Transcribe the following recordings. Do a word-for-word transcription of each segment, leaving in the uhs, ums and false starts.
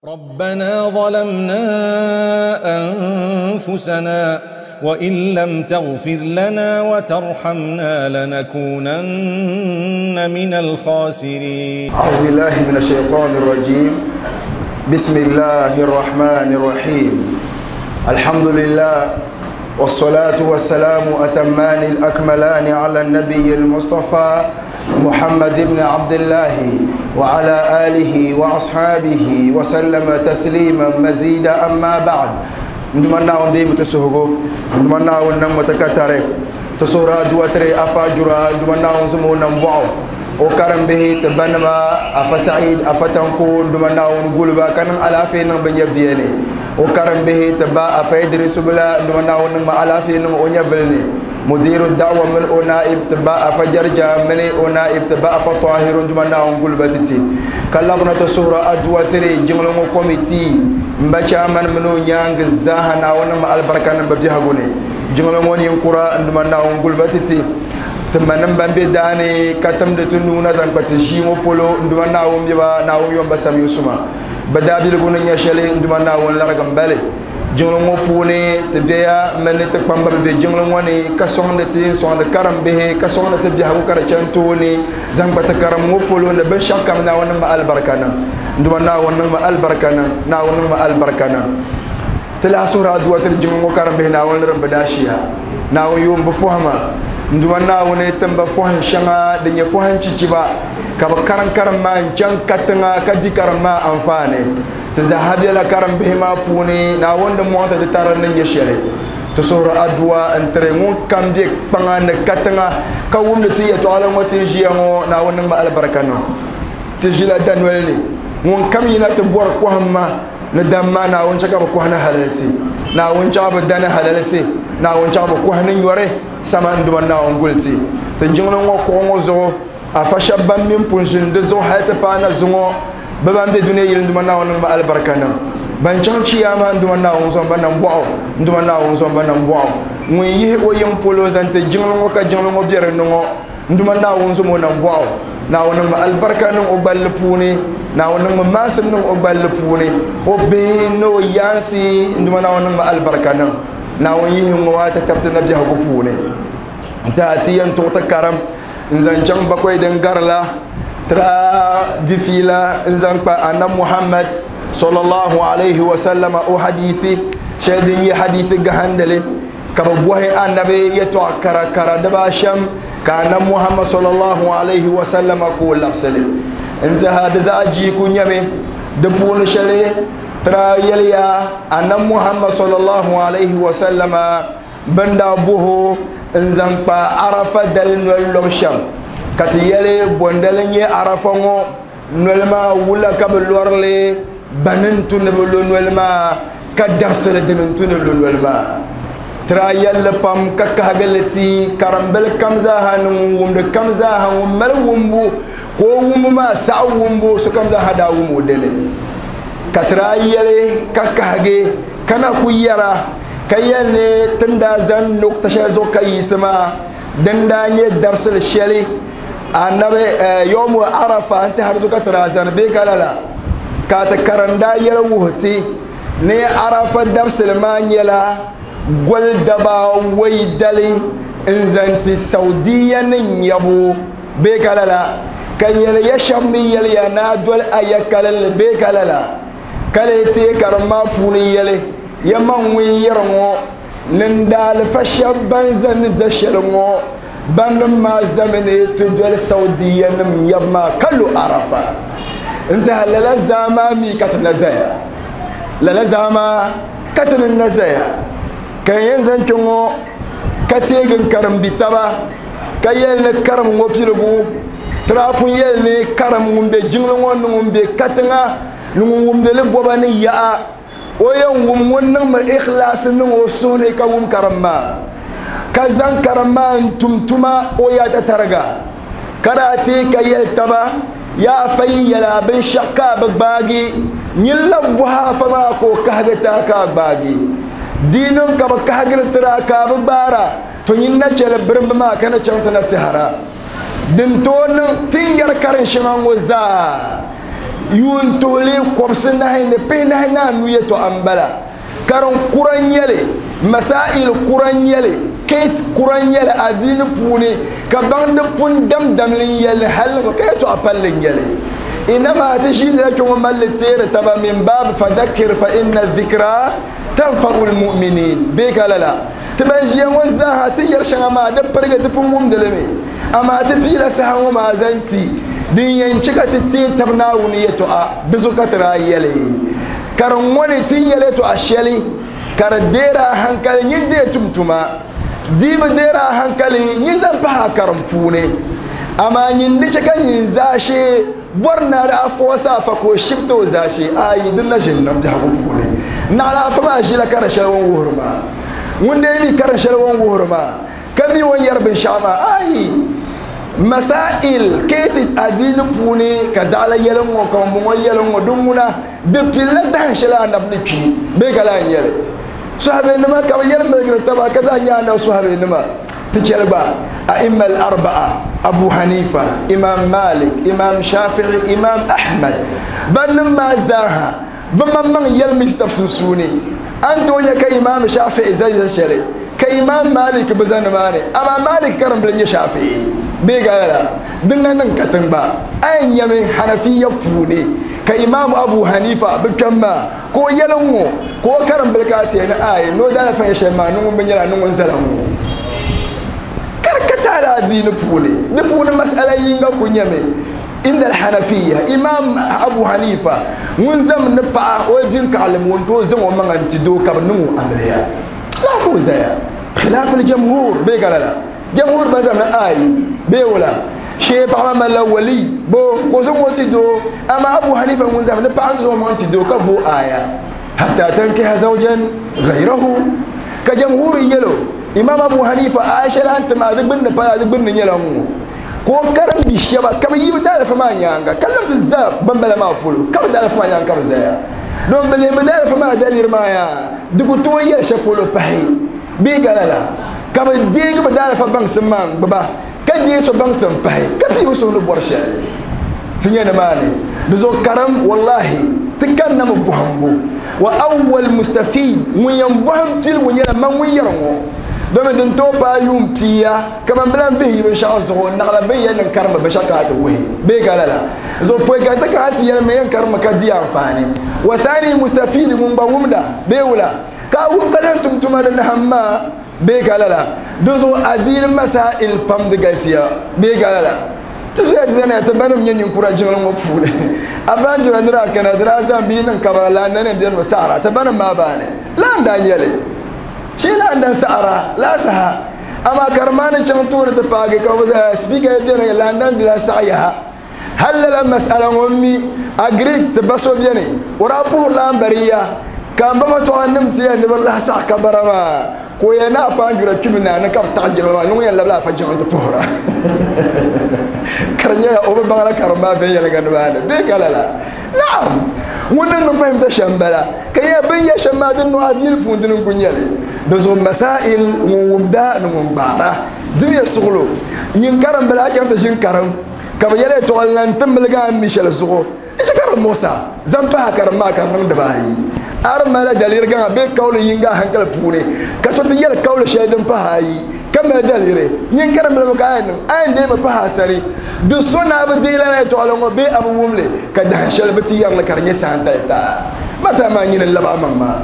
ربنا ظلمنا أنفسنا وإن لم تغفر لنا وترحمنا لنكونن من الخاسرين. أعوذ بالله من الشيطان الرجيم. بسم الله الرحمن الرحيم. الحمد لله والصلاة والسلام أتمان الأكملان على النبي المصطفى محمد بن عبد الله وعلى آله وأصحابه وسلم تسليما مزيدا. أما بعد، ndumana wonde mutusuhugo ndumana wonna mutakatare tusura duwatre afajura ndumana wonzumo nambo o karambe te banama afa said afa tanko ndumana won gulba kanan alafe nan banya biyene o karambe te ba afa idris bula ndumana won ma alafe nan o nyavelne mudiru da'wa min o naib te ba afa jarja min o naib te ba afa tahir ndumana won gulba titi kallabna tusura adwatre jinglo mo committee mbacha man mino nyang zahana wana ma albarka nan babi hagune jinglo mo ni kura nduma na ngul batiti tamanan bambe dane katam de tununa zan pati jimo polo nduma na won biba na won yomba sam yusuma badabil gunu nya shele nduma na won largam bale jinglo mo pune te beya man te pamba be jinglo mo ni ka sonde ti sonde karam be ka sonde te bi hagu kara chantoni zan pati karam mo polo ne be shakam na wana ma albarka nan nduma na won ma albarka nan na won ma albarka nan tala sura duwatar jinglo karam be na won ramba dashiya na won yum bu fuhama nduma na won tamba fuhan shanga de nya fuhan cikiba ka ba karan karam ma can katanga ka di karam ma amfane te zahabi la karam be ma puni na won de mota de taran nan ya shele to sura adwa entre ngun kam de panga ne katanga ka wum de ti ya to ala ngoti jiango na won ma albarka no te jila danwel ni ngun kam yina te bor ko hamma ne damma na won chaka ko hana halalsi na won chaba dana halalsi na won chaba ko hana yore sama nduma na won gulti te jinglo ngo ko ngo zo afa shabban min punjin de zo hayta pana zungo baban be duniya yil nduma na won ma albarka na ban chan chiyama nduma na won zo ban bo nduma na won zo ban bo ngun yihi o yim polo zante jinglo ngo ka jinglo ngo biere ngo nduma na won zo mo na bo na won ma albarka nan o bal puni na won ma masim nan o bal puni o be no yansi nduma na won ma albarka nan na won yihi ngo wata tabta na biya ko puni ta ti yan to ta karam nzan bakwai den garla tra difila nzan pa anna Muhammad sallallahu alaihi wa sallama o hadisi shedin yi hadisi ga handale ka ba buhe annabi ya to kara kara da ba sham ka anna Muhammad sallallahu alaihi wa sallama ko lapsale nza hada za ji ku nyame da punu shale tra yaliya anna Muhammad sallallahu alaihi wa sallama banda buhu nzan pa arafa dal nol sham kati yele bondale nye arafa ngo nolma wula ka be lorle banin tun be lo nolma ka darsele den tun lo nolma tra yelle pam ka kagalati karambel kamza hanu wumde kamza hanu mel wumbu ko wumbu ma sa wumbu so kamza hada wumu dele katra yele ka kage kana ku yara kayene tunda zan nokta shazo kayisma danda nye darsel sheli annabi yawmu arafa anta harzu ka tarazan be kalala ka ta karanda yar wuhti ne arafa darsel ma nyela gol daba wai dali in zanti saudiya nin yabo be kalala kayele ya shammi yel ya na dol ayakalal be kalala kale te karma puni yele yamman wi yarmo nin dal fashabban zan zashalmo ban ma zamane to dol saudiya nim yamma kallu arafa inta halala zama mi katna zaya lala zama katna nazaya kan yanzan kingo kategin karam bitaba kayel ne karam ngopilgu trapun yel ne karam ngumbe jinglo ngon ngumbe katnga ngumbe le bobani ya o yan wum wannan ma ikhlas nin o sune ka wum karamma ka zan karamma tumtuma o ya ta targa kada te ka yeltaba ya fayyala bin shakka bagbagi nyilla buha fama ko kahgata ka gbagi dinin ka ba kahgir tira ka bara to yin na chele birba ma kana chanta na tsahara din to nan tin yar karin shiman waza Yuun tuhili kɔbisi nahi ni pihinahi ni anu yɛltɔɣa n-bala karim kura n-nyɛli masail kura n-nyɛli case kura n-nyɛli adiini puuni ka baŋdi pun damdamli n-yɛli hali ka yɛltɔɣa palli n-nyɛli inama ti ʒiinila kpɛ ŋɔ malli teeri taba min baab fadhakkir fa inna dhikra tanfa'u lmuminin bee ka lala ti ban ʒiya ŋɔ zaaha ti yɛri shɛŋa maa di pirigi ti pun wumdili mi amaa ti piila saha ŋɔ maa zaŋ ti din yɛn chɛ ka ti teei tab Naawuni yɛltɔɣa di zuɣu ka ti daa yɛli ka di ŋɔ ni ti yɛli yɛltɔɣa shɛli ka di deeri a hankali nyin deei tum tuma dii bi deeri a hankali nyin zaŋ pahi a karim puuni amaa nyin di chɛ ka nyin zaashee bɔri na di afɔɔsa afa ka o shibiti o zaashee ayi din na ʒini niŋ biɛhigu puuni naɣila afa maa ʒila karin shɛli o ni wuhiri maa ŋun dee mi karin shɛli o ni wuhiri maa ka mi o ni yɛri binshɛɣu maa ayi masail cases adiini puuni ka zaɣala yɛli ŋɔ ka ŋun yɛli ŋɔ din ŋuna di pilila dahin shɛli anabi ni kpi bee ka lahi nyɛli sahabenima ka bi yɛli miligiri taba ka zaɣ nyɛ anabi sahabenima ti chɛli gba a'imma al-arba'a Abu Hanifa Imam Malik Imam Shafi'i Imam Ahmad bannim maa zaaha bi maŋmaŋ yɛli mi tab sunsuuni an tooi nyɛ ka Imam Shafi'i zali shɛli ka Imam Malik bi zani maani amaa Malik karimbili nyɛ Shafi'i bee ka lala din na niŋ katiŋ gba a yɛn nyɛmi Hanafiya puuni ka Imam Abu Hanifa bi kpɛm maa ka o yɛli ŋɔ ka o karimbili ka a tiɛ ni ayi ni o daalafa nyɛ shɛli maa ni ŋun bi nyɛla ni ŋun zala ŋɔ karikataala adiini puuni di puuni masala yinga ku nyɛmi inda alhanafiya Imam Abu Hanifa ŋun zam ni paɣa o din kaɣalim ŋun tooi zaŋ o maŋa n ti doo ka bi niŋ o amiliya laa ka o zaya khilaaf aljamhur bee ka lala jamhur ban zam ni ayi bee wula shee paɣa maa malila wali bo ka o zaŋ o ti doo amaa Abu Hanifa ŋun zam ni paɣa n zaŋ o maŋa ti doo ka bo aya hatta tankiha zawjan ghayrahu ka jamhur yɛlo Imam Abu Hanifa aya shɛli a ni ti maa di gbunni pala di gbunni nyɛla ŋɔ ka o karim bi shɛba ka bi yi bi daalafa maa nyaanga ka labi ti za bambala maa polo ka bi daalafa maa nyaanga ka bi zaya don bi lihi bi daalafa maa daliri maa yaa di ku tooi yɛli shɛli polo pahi bee ka lala ka bi deegi bi daalafa baŋsim maa n gbuba ka deei so baŋsim pahi ka pii bi suhu ni bɔri shɛli ti nyɛ nimaani di zuɣu karim wallahi ti kanna mi bɔhimbu wa awwal mustafid ŋun yɛn bɔhim piligu nyɛla man ŋun yɛri ŋɔ domi din tooi paai yuun pia kaman bi lan vihi yi binshaɣu zuɣu naɣila bin yɛn niŋ karimba binshaɣu ka a ti wuhi bee ka lala zuɣu pɔi ka ti kana ti yɛli mi yɛn karimba ka di anfaani wa thani mustafid ŋun gba wumda bee wula ka a wum ka zaŋ tum tuma di naham maa bee ka lala di zuɣu adiini masail pam di galisiya bee ka lala ti zoya ti zani ti banim nyɛ ninkura jiŋli ŋɔ puuni afanjura nira kana di daa zaŋ bia niŋ kabara laanda nim beni mi saɣara ti banim maa baani laan daa nyɛli shi laan dan saɣara laa saha amaa karimaani chaŋ tooni ti paagi ka bi zaya spiika beni laan dan dila saɣa yaha hali lala masala ŋɔ mi agiri ti ba so beni o daa puhiri laan bariya ka n ba fa tɔɣa nim ti yɛn ni bi lahi saɣa kabara maa ka o yɛn ni afanjura kpimi naa ni ka bi taɣi jiŋli maa ni ŋun yɛn labila afa jiŋli ti puhira ka di nyɛla o bi baŋla karim maa viɛnyɛlinga nimaani bee ka lala naam ŋun ni niŋ fahimta shɛm bala ka yɛ bin yɛ shɛm maa din niŋ adiini puuni dini n ku nyɛli di zuɣu masail ŋun wumda ni ŋun gbaara dimiya suɣulo nyin karim bala a chaŋ ti ʒini karim ka bi yɛli yɛltɔɣa lan ti miligi a ni mi shɛli zuɣu di chɛ ka di muɣisa zaŋ pahi karim maa ka di niŋ dibaayi a di malila daliri gaŋa bee kawuli yinga a hankali puuni ka so ti yɛli kawuli shɛli din pahi ayi ka mali daliri nyin karim bilimi ka a yɛn niŋ a yɛn deemi pahi a sani di so na bi deei lala yɛltɔɣali ŋɔ bee a bi wumli ka dahin shɛli bi ti yɛrili ka di nyɛ saantali taa mata maa nyini n labi a maŋ maa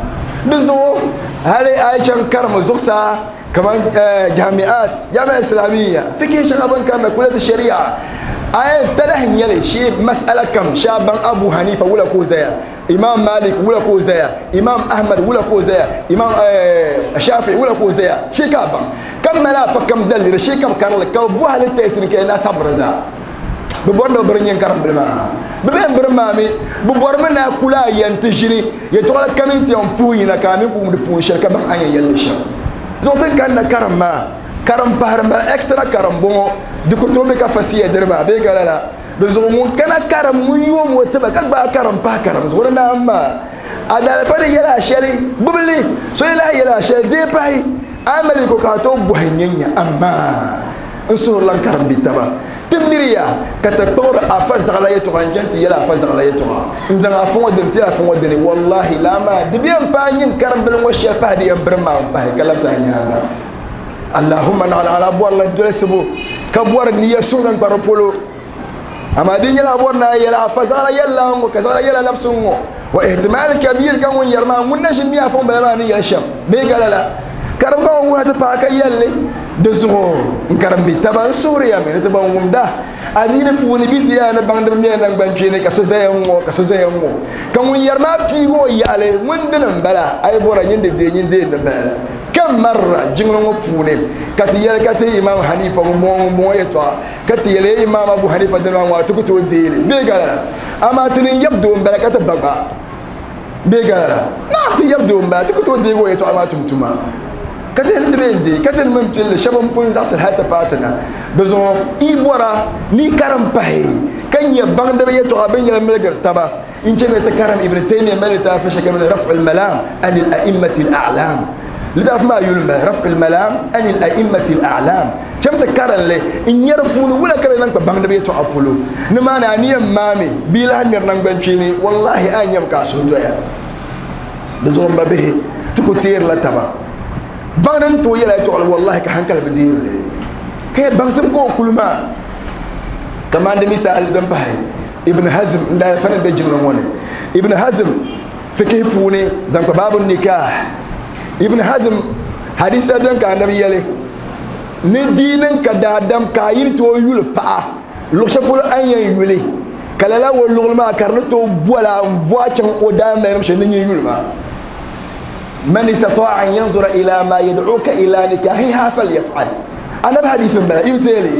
di zuɣu hali a yi chaŋ karimi zuɣusaa kaman jamiat jamia islamiyya fikihi shɛŋa bin karinda kulati sharia a yɛn talahi nyɛli shee masala kam shee baŋ Abu Hanifa wula ka o zaya Imam Malik wula ka o zaya Imam Ahmad wula ka o zaya Imam Shafi'i wula ka o zaya shee ka a baŋ ka mali afa kam daliri shee ka bi karili ka bi bɔhili tɛsi ni ka yɛn na sabiri zaa bi bɔri ni bi biri nyɛ karim bili maa bi bɛn biri maa mi bi bɔrimi ni a kuli a yɛn ti ʒini yɛltɔɣali kam n ti yɛn puhi yina ka a mi ku wumdi puuni shɛli ka baŋ a yɛn yɛlli shɛm zuɣu ti kanna karim maa karim pahiri mali extra karim bɔŋɔ di ku tooi be ka fasiya diri maa bee ka lala di zuɣu ŋun kana karim ŋun yoom o tiba ka gbaai karim pahi karim zuɣu di naam maa a daalafa di yɛla a shɛli gbubili so yi lahi yɛla a shɛli deei pahi a mali ko ka a tooi bɔhi nyɛ nya amaa n suhuri lan karim bi taba Timiriya ka ti kpuɣiri afa zaɣala yɛltɔɣa n chani ti yɛli afa zaɣala yɛltɔɣa n zaŋ afa ŋɔ dini ti afa ŋɔ dini wallahi laa maa di bɛ yɛn paai nyin karimbili ŋɔ shɛli pahi di yɛn birim maa pahi ka labisi a nyaanga allahumma naɣala ala bɔrila dolisibu ka bɔri niya suŋ zaŋ kpa di polo amaa di nyɛla a bɔri ni a yɛli afa zaɣala yɛlila ŋɔ ka zaɣala yɛla labisi ŋɔ wa ihtimal kabir ka ŋun yɛri maa ŋun na ʒi mi afa ŋun bala maa ni yɛli shɛm bee ka lala karimba ŋɔ ŋuna ti paai ka yɛlli di zuɣu n karimbi taba n suhuriya mi ni ti ban wumda adiini puuni bi ti yaa ni baŋdibi mɛla nangban kpeeni ka so zaya ŋɔ ka so zaya ŋɔ ka ŋun yɛri maa piigi o yaɣali ŋun dini n bala a yi bɔra nyin di deei nyin deei din bala la ka marra jiŋli ŋɔ puuni ka ti yɛli ka ti imam hanifa ŋun bɔŋɔ ŋun bɔŋɔ yɛltɔɣa ka ti yɛli imam abu hanifa dini maa ŋɔ a ti ku tooi deeli bee ka lala amaa ti ni yɛb doo n bala ka ti ba gba bee ka lala naa ti yɛb doo n bala ti ku tooi deegi o yɛltɔɣa maa tum tuma ka ti yɛli ti bee n deei ka ti ni mini pilli shɛba n pun zaɣasiri hali ti paai ti na di zuɣu i bɔra ni karim pahi ka nyɛ baŋdiba yɛltɔɣa bin yɛli miligiri taba n chɛ mi ti karim ibn taymiya mali litaafi shɛli kamani rafu lmalam an al-a'immati al-a'lam litaafi maa yuli m-bala rafu lmalam an al-a'immati al-a'lam chɛm ti karinli n nyɛ di puuni wula ka di zaŋ kpa baŋdiba yɛltɔɣa polo ni maani a ni yɛn maami bia lahi ŋmɛri nangban kpeeni wallahi a nyɛmi ka a suhu doya di zuɣu m ba bihi ti ku teerila taba baŋdi n tooi yɛla yɛltɔɣali wallahi ka hankali bi deerili ka yɛ baŋsim ka o kuli maa kamani di misaali din pahi ibn hazm n daa fani be jiŋli ŋɔ ni ibn hazm fikihi puuni zaŋ kpa baabu nikah ibn hazm hadisa bɛn ka anabi yɛli ni diini ka daadam ka a yi tooi yuli paɣa luɣu shɛli polo a ni yɛn yuli ka lala o luɣuli maa ka di ni tooi bɔla n voa chaŋ o daamalinim shɛli ni nyin yuli maa من استطاع أن ينظر إلى ما يدعوك إلى نكاحها فليفعل. أنا بحديث بلا إمتالي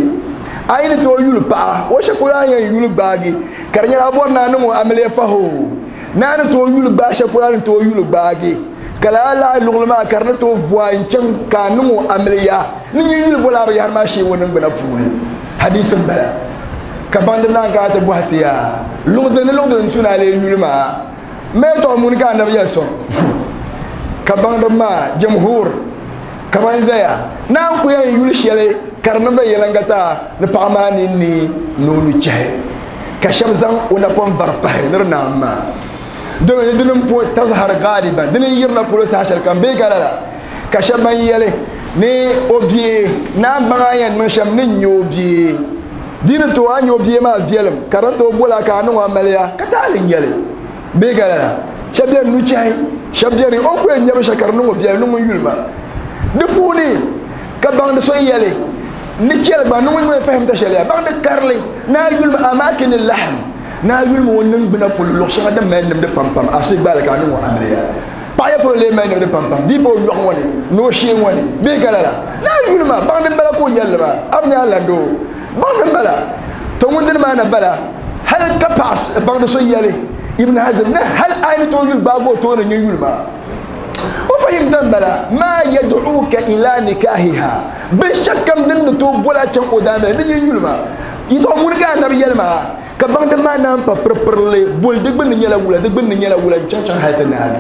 أين تو يول با وشكولا يول باغي كرنيا أبورنا نمو أملي فهو نان تو يول با شكولا تو يول باغي كلا لا لغلما كرن تو فوا إنشان كانمو أمليا نيجي يول بولا بيار ماشي ونن بنا فوني حديث بلا كباندنا قاعد بوهتيا لغدن لغدن تونا لي يول ما ما تو مونكا نبي يسون ka baŋdi maa jamhur ka ban zaya naan ku yɛn yuli shɛli ka di niŋ yɛliŋga ni paɣa maa ninni ni o nuchɛhi ka shɛba zaŋ o napɔŋ vari pahi ni di naam maa domi dini n po tazhar galiban dini n yirina polo saha shɛli kam bee ka lala ka shɛba ban yɛli ni o bia naan baŋ a yɛn niŋ shɛm ni n nyɛ o bia dini to a nyɛ o bia maa viɛlim ka di tooi bola ka a niŋ o amaliya ka taali n nyɛli bee ka lala shɛba bɛni nuchɛhi shɛba bɛni o ku yɛn nyɛ binshɛli ka di niŋ o viɛlim ni ŋun yuli maa di puuni ka baŋdi so yɛli ni chɛli gba ni ŋun ŋun fahimta shɛli ya baŋdi karili ni a yuli ma amaakini lahm ni a yuli ma o niŋgbuna polo luɣu shɛŋa din mali nimdi pampam a so gbaali ka a niŋ o amiliya paɣa ya polo lee mali nimdi pampam di pa o yɔɣu ŋɔ ni ni o shee ŋɔ ni bee ka lala ni a yuli ma baŋdi n bala ka o yɛlli maa a bi nyɛ a landoo baŋdi n bala to ŋun dini maa na bala hali ka paɣa baŋdi so yɛli ibn hazm ne hal ayni to yul bago to ne yul ma o fahimta bala ma yad'uka ila nikahiha bi shakkam din to bola chan o dame ni yul ma yito mun ga nabi yelma ka bangde ma nan pa perperle bol de gbin nyela wula de gbin nyela wula chan chan halta nabi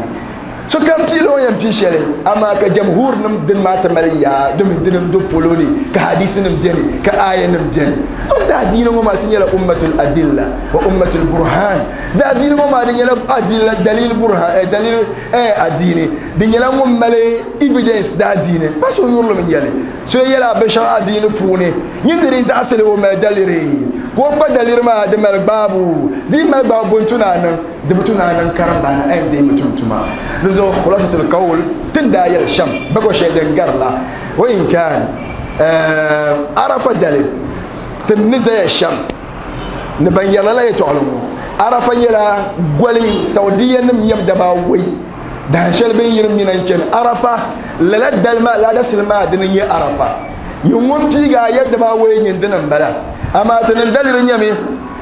so kam pilo yan pi shele amma ka jamhur nim din ma ta maliya dum din do poloni ka hadisi nim deni ka aya nim deni so da dinin ma tin yala ummatul adilla wa ummatul burhan da dinin ma din yala adilla dalil burhan eh dalil eh adini din yala ngum male evidence da dini ba so yurlo min yale so yala bashar adini pune nyindiri zasale o ma daliri ko ba dalir ma da mal babu di mal babu tunanan da tunanan karamba na ayin zai mutuntuma nazo khulasatul qawl tunda yal sham bago shaydan garla wa in kan arafa dalil tunza ya sham ni ban yala la yata'lamu arafa yala gwali saudiya nim yam da ba wai da shal bin yirim minan ken arafa la dalma la dasilma dinin ya arafa yungun tiga yadda ba wai yin dinan bala amma tunan dalirin yami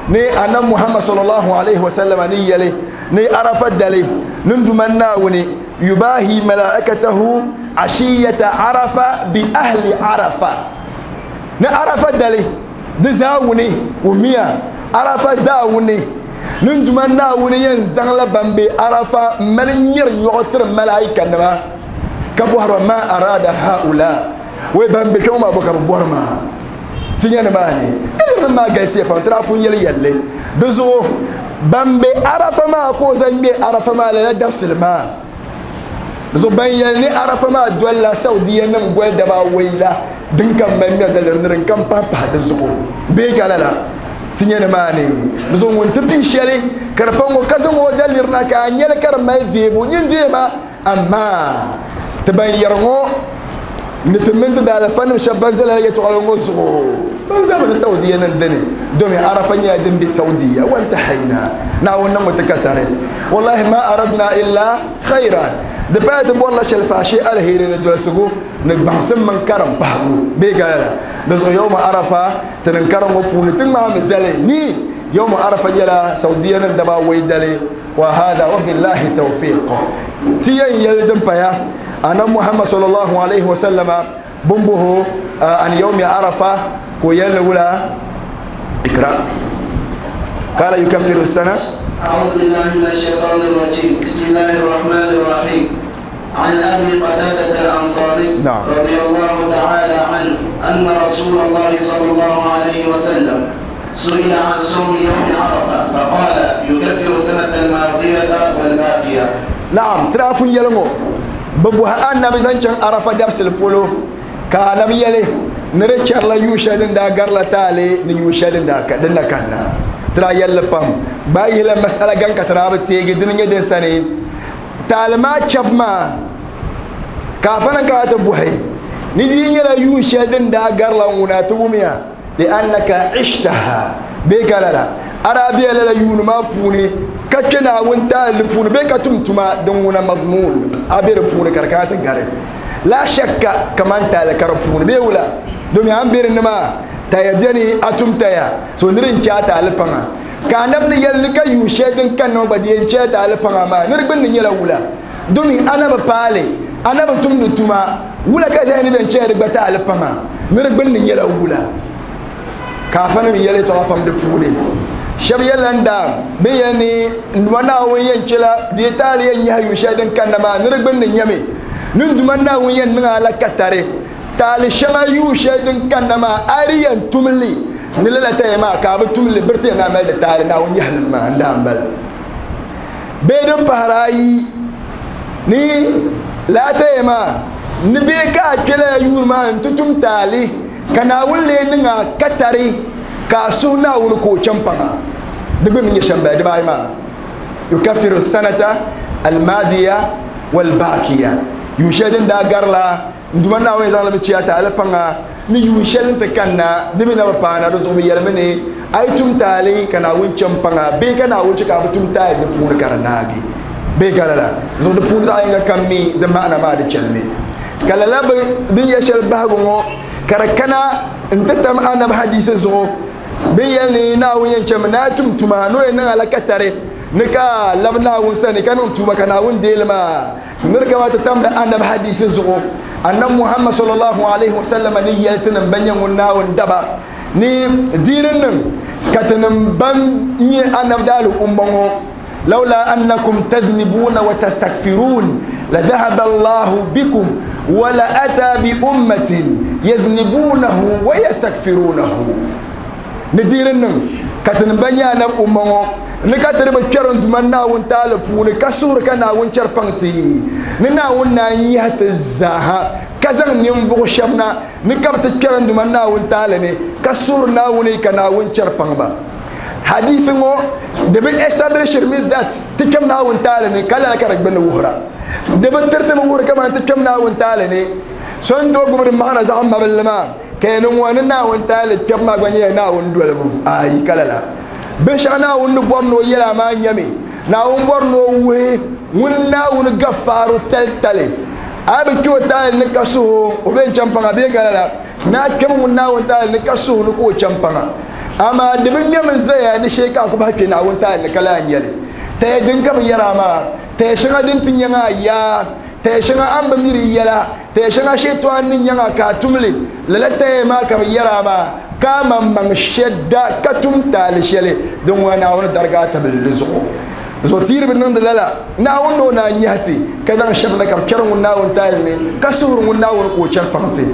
ni annan muhammad sallallahu alaihi wasallam ni yale ni arafa dale nin duman nawuni yubahi malaikatahu ashiyata arafa bi ahli arafa ni arafa dale di zawuni umiya arafa zawuni nin duman nawuni yan zangla bambe arafa malin yir yotir malaika nima ka buhara ma arada haula wai bambe kuma ba ka buhara ma tinya na mani Yɛltɔɣa maa galisiya pam ti daa pun yɛli yɛlli di zuɣu ban be Arafa maa ka o zaŋ ŋmɛ Arafa maa lala dabisili maa di zuɣu ban yɛli ni Arafa maa dolila Saudiya nim goli daba awɔi la din kam mali ŋmɛri daliri ni din kam pahi pahi di zuɣu bee ka lala ti nyɛ ni maa ni di zuɣu ŋun ti pii shɛli ka di pa ŋɔ ka zaŋ o daliri na ka a nyɛli ka di mali deebu nyin deema amaa ti ban yɛri ŋɔ ni ti mini ti daalifa nim shɛba ban zala yɛltɔɣali ŋɔ zuɣu ban zami ni Saudiya nim dini domin Arafa nyɛla din be Saudiya wantahayna Naawuni niŋmi ti katari wallahi ma aradna illa khayran di paya ti bɔrila shɛli faashee aliheri ni dolisigu ni gbaŋsim mini karim pahigu bee ka lala di zuɣu yawma Arafa ti niŋ karim ŋɔ puuni ti ŋmaami zali ni yawma Arafa nyɛla Saudiya nim daba awɔi dali wa hada wa billahi tawfiq ti yɛn yɛli din paya annabi Muhammad sallallahu alaihi wa sallama bumbuhu an yawmi Arafa ko yɛli wula ikra qala yukaffiru sana. أعوذ بالله من الشيطان الرجيم. بسم الله الرحمن الرحيم. عن أبي قتادة الأنصاري نعم. رضي الله تعالى عنه أن رسول الله صلى الله عليه وسلم سئل عن صوم يوم عرفة فقال يكفر السنة الماضية والباقية. نعم ترافون يلمو ببوها النبي زنجان عرفة دبس البولو كان يلي نريتشار لا يوشدن دا غرلا تالي نيوشدن دا كدن كنا ترى يلا بام باي لا مسألة كان كتراب تيجي دنيا دين سنة تعلم شاب ما كافنا كاتبوهي ندين يلا يوشدن دا غرلا وناتوميا لأنك عشتها بكلا عربية لا يون ما بوني كتنا وانت لبوني بكتم تما دون مضمون أبير بوني كركات غري لا شك كمان تال كربوني بيولا دومي أم بير نما تيجني أتوم تيا سندرين شات على بنا كأنم نيل نك يوشدن كانوا بدين شات على بنا ما نرجع نيل أولا دومي أنا بقالي أنا بتوم نتوما ولا كذا نبين شات بتاع على بنا نرجع نيل أولا كافنا ميل ترابم دبوني شب يلندا بيني نوانا وين شلا ديتالي ينهي يوشدن كانوا ما نرجع نيمي نندمنا وين نعلى كتاري تالي شما يوشدن كانما أريان تملي نلا تيما كاب تملي برتي نعمل تالي ناون يحلم ما عندهم بلا بيدم بهراي ني لا تيما نبيك كلا يوم تتم تالي كناول لينا كتاري كاسونا ونكو شامبانا دبي من يشامبا دبي ما يكفر السنة الماضية والباقية يوشدن دا غرلا nduma na wani zan ciya ta alfanga ni yushelin ta kanna dimi na bana da zubi yalmini ai tum tali kana wuncin panga be kana wuce ka tum tali da pun karna bi be kana zo da pun da ai ga kammi da ma'ana ma da chalmi kala la bin ya shal bago karakana in ta tam anab hadisi zo bin yalni na wuyan cem na tum tuma no yana alakatare nika labna wun sani kanun tuma kana wun delma nirka wata tam da anab hadisi zo annan Muhammad sallallahu alaihi wasallam ni yeltinan banyan wunawun daba ni dirin nan katanin ban yi annab dalu ummango laula annakum taznibuna wa tastakfirun la dhahaba Allahu bikum wa la ata bi ummatin yaznibunahu wa yastakfirunahu ni dirin nan katanin ban annab ummango ni ka tiri bi kpɛri n duma Naawuni taali puuni ka suhuri ka Naawuni chɛri paŋ ti ni Naawuni naan yihi ti zaaha ka zaŋ ninvuɣu shɛba na ni ka bi ti kpɛri n duma Naawuni taali ni ka suhuri Naawuni ka Naawuni chɛri paŋ ba hadisi ŋɔ di bi establish mi that ti kpɛm Naawuni taali ni ka lala ka di gbunni wuhura di bi tiriti mi wuhuri kamani ti kpɛm Naawuni taali ni so n tooi gbubi di maɣana zaɣ mabilili maa ka yɛn ŋɔ ni Naawuni taali kpɛbu maa gba nyɛla Naawuni dolibu ayi ka lala binshɛɣu Naawuni ni bɔri ni o yɛla maa nyɛmi Naawuni bɔri ni o wuhi ŋun Naawuni gafaaru tali tali a bi kpɛ o taali ni ka suhu o bɛ n chɛn paŋa bee ka lala naa kpɛm ŋun Naawuni taali ni ka suhu ni ka o chɛn paŋa amaa di bi ŋmɛmi zaya ni shee ka a ku bahi kpɛ Naawuni taali ni ka lahi nyɛli taya din ka bi yɛra maa taya shɛŋa din ti nyɛŋa yaa taya shɛŋa an bi miri yɛla taya shɛŋa shɛtɔɣa ni nyɛŋa ka a tumli lala taya maa ka bi yɛra maa ka maŋmaŋ shɛda ka tum taali shɛli din ŋɔ Naawuni dariga tabili di zuɣu Zotiri bin niŋdi lala Naawuni no na nyahati ka zaŋ shɛba na ka bi chɛri ŋun Naawuni taali ni ka suhuri ŋun Naawuni ka o chɛri paŋti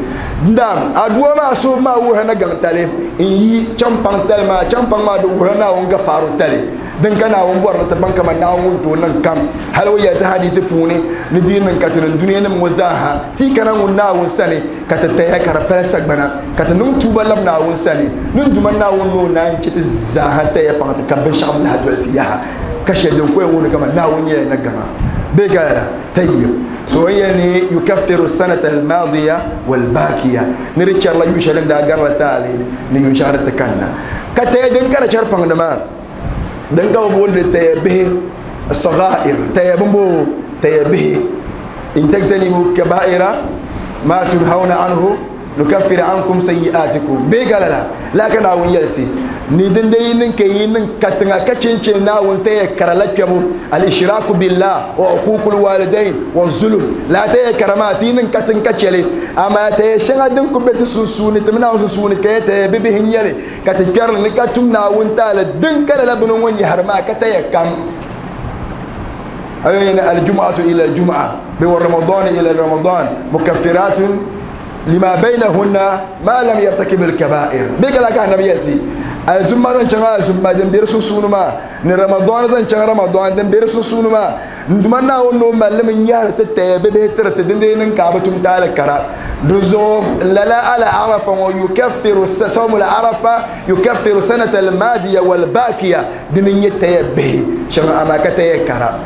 ndam aduwa maa suhu maa wuhira na gaŋ tali n yi champaŋ tali maa champaŋ maa di wuhira Naawuni gafaaro tali din ka Naawuni bɔri ni ti baŋ kaman Naawuni ŋun tooi niŋ kam hali o yɛli ti hadiisi puuni ni di niŋ ka ti niŋ duniya nim ŋɔ zaaha ti kana ŋun Naawuni sani ka ti taya ka di pali sagbana ka ti niŋ tuuba lab Naawuni sani ni duma Naawuni ni o naan chɛ ti zaaha taya paŋ ti ka binshɛɣu lahi doli ti yaha ka shɛli din koya wuhiri kaman Naawuni nyɛla na gaŋa bee ka lala tayyib so yani yukaffiru sanata almadiya walbakiya ni di chɛrila yu shɛli din daa garila taali ni yu shɛŋa din ti kanna ka taya din ka di chɛri paŋdi maa din ka bi booni taya bihi sagair taya bimbo taya bihi in tajtanibu kabaira ma tunhauna anhu nukaffir ankum sayyi'atikum bee ka lala laa ka Naawuni yɛli ti ni din de yi niŋ ka yi niŋ katiŋa ka chinchini Naawuni taya kara la kpɛbu al-ishraku billah wa uququl walidain wa zulum la taya kara maa ti yi niŋ katiŋ ka chɛli amaa taya shɛŋa din ku be ti sunsuuni ti mi Naawuni sunsuuni ka yɛ taya bibihi n-nyɛli ka ti kpɛrili ni ka tum Naawuni taali din ka lala bini ŋɔ nyɛhiri maa ka taya kam ayini al-jum'atu ila al-jum'a bi wa ramadan ila ramadan mukaffiratun lima baynahunna ma lam yartakib al-kaba'ir bi kala ka annabi yati azumma zan changa azumma din bir susunu ma ni ramadan zan changa ramadan din bir susunu ma nduma na wono mallam nyar ta ta be be tirti din din ka batum dal kara duzo lala ala arafa wa yukaffiru sawm al arafa yukaffiru sanata al madiya wal bakiya din yata be shanga amaka ta kara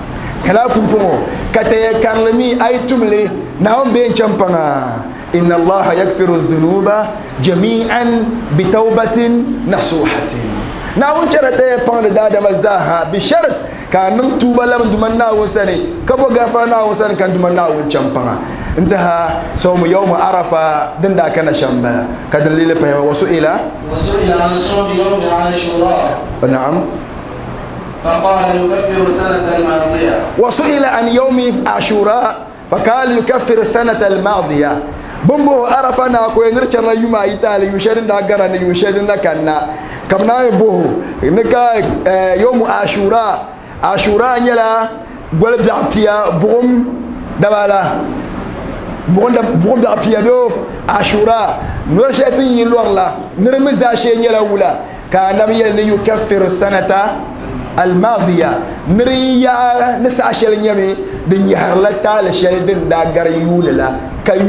kala pumpo ka ta karlami ay tumle na on be champanga إن الله يغفر الذنوب جميعا بتوبة نصوحة ناون شرط يبان دادا مزاها بشرط كان توبة لم دمنا وسني كبو غفرنا وسني كان دمنا وشامبانا انتهى صوم يوم عرفة دندا كان شامبلا كدليل بهم وسئل وسئل عن صوم يوم عاشوراء نعم فقال يكفر سنة الماضية وسئل عن يوم عاشوراء فقال يكفر السنة الماضية بمبو عرفة ناكو ينرچر يوم ايتال يشرن دا غران يشرن دا كنا كمنا بوه نكا يوم عاشوراء عاشوراء نيلا غول دعتيا بوم دبالا بوم بوم دعتيا دو عاشوراء نورشاتين يلورلا نرمزا شي نيلا ولا كان نبي يكفر السنة الماضية نريا نسعى شل نيمي دن يهرلا تال شل دن دا غار يوللا كاي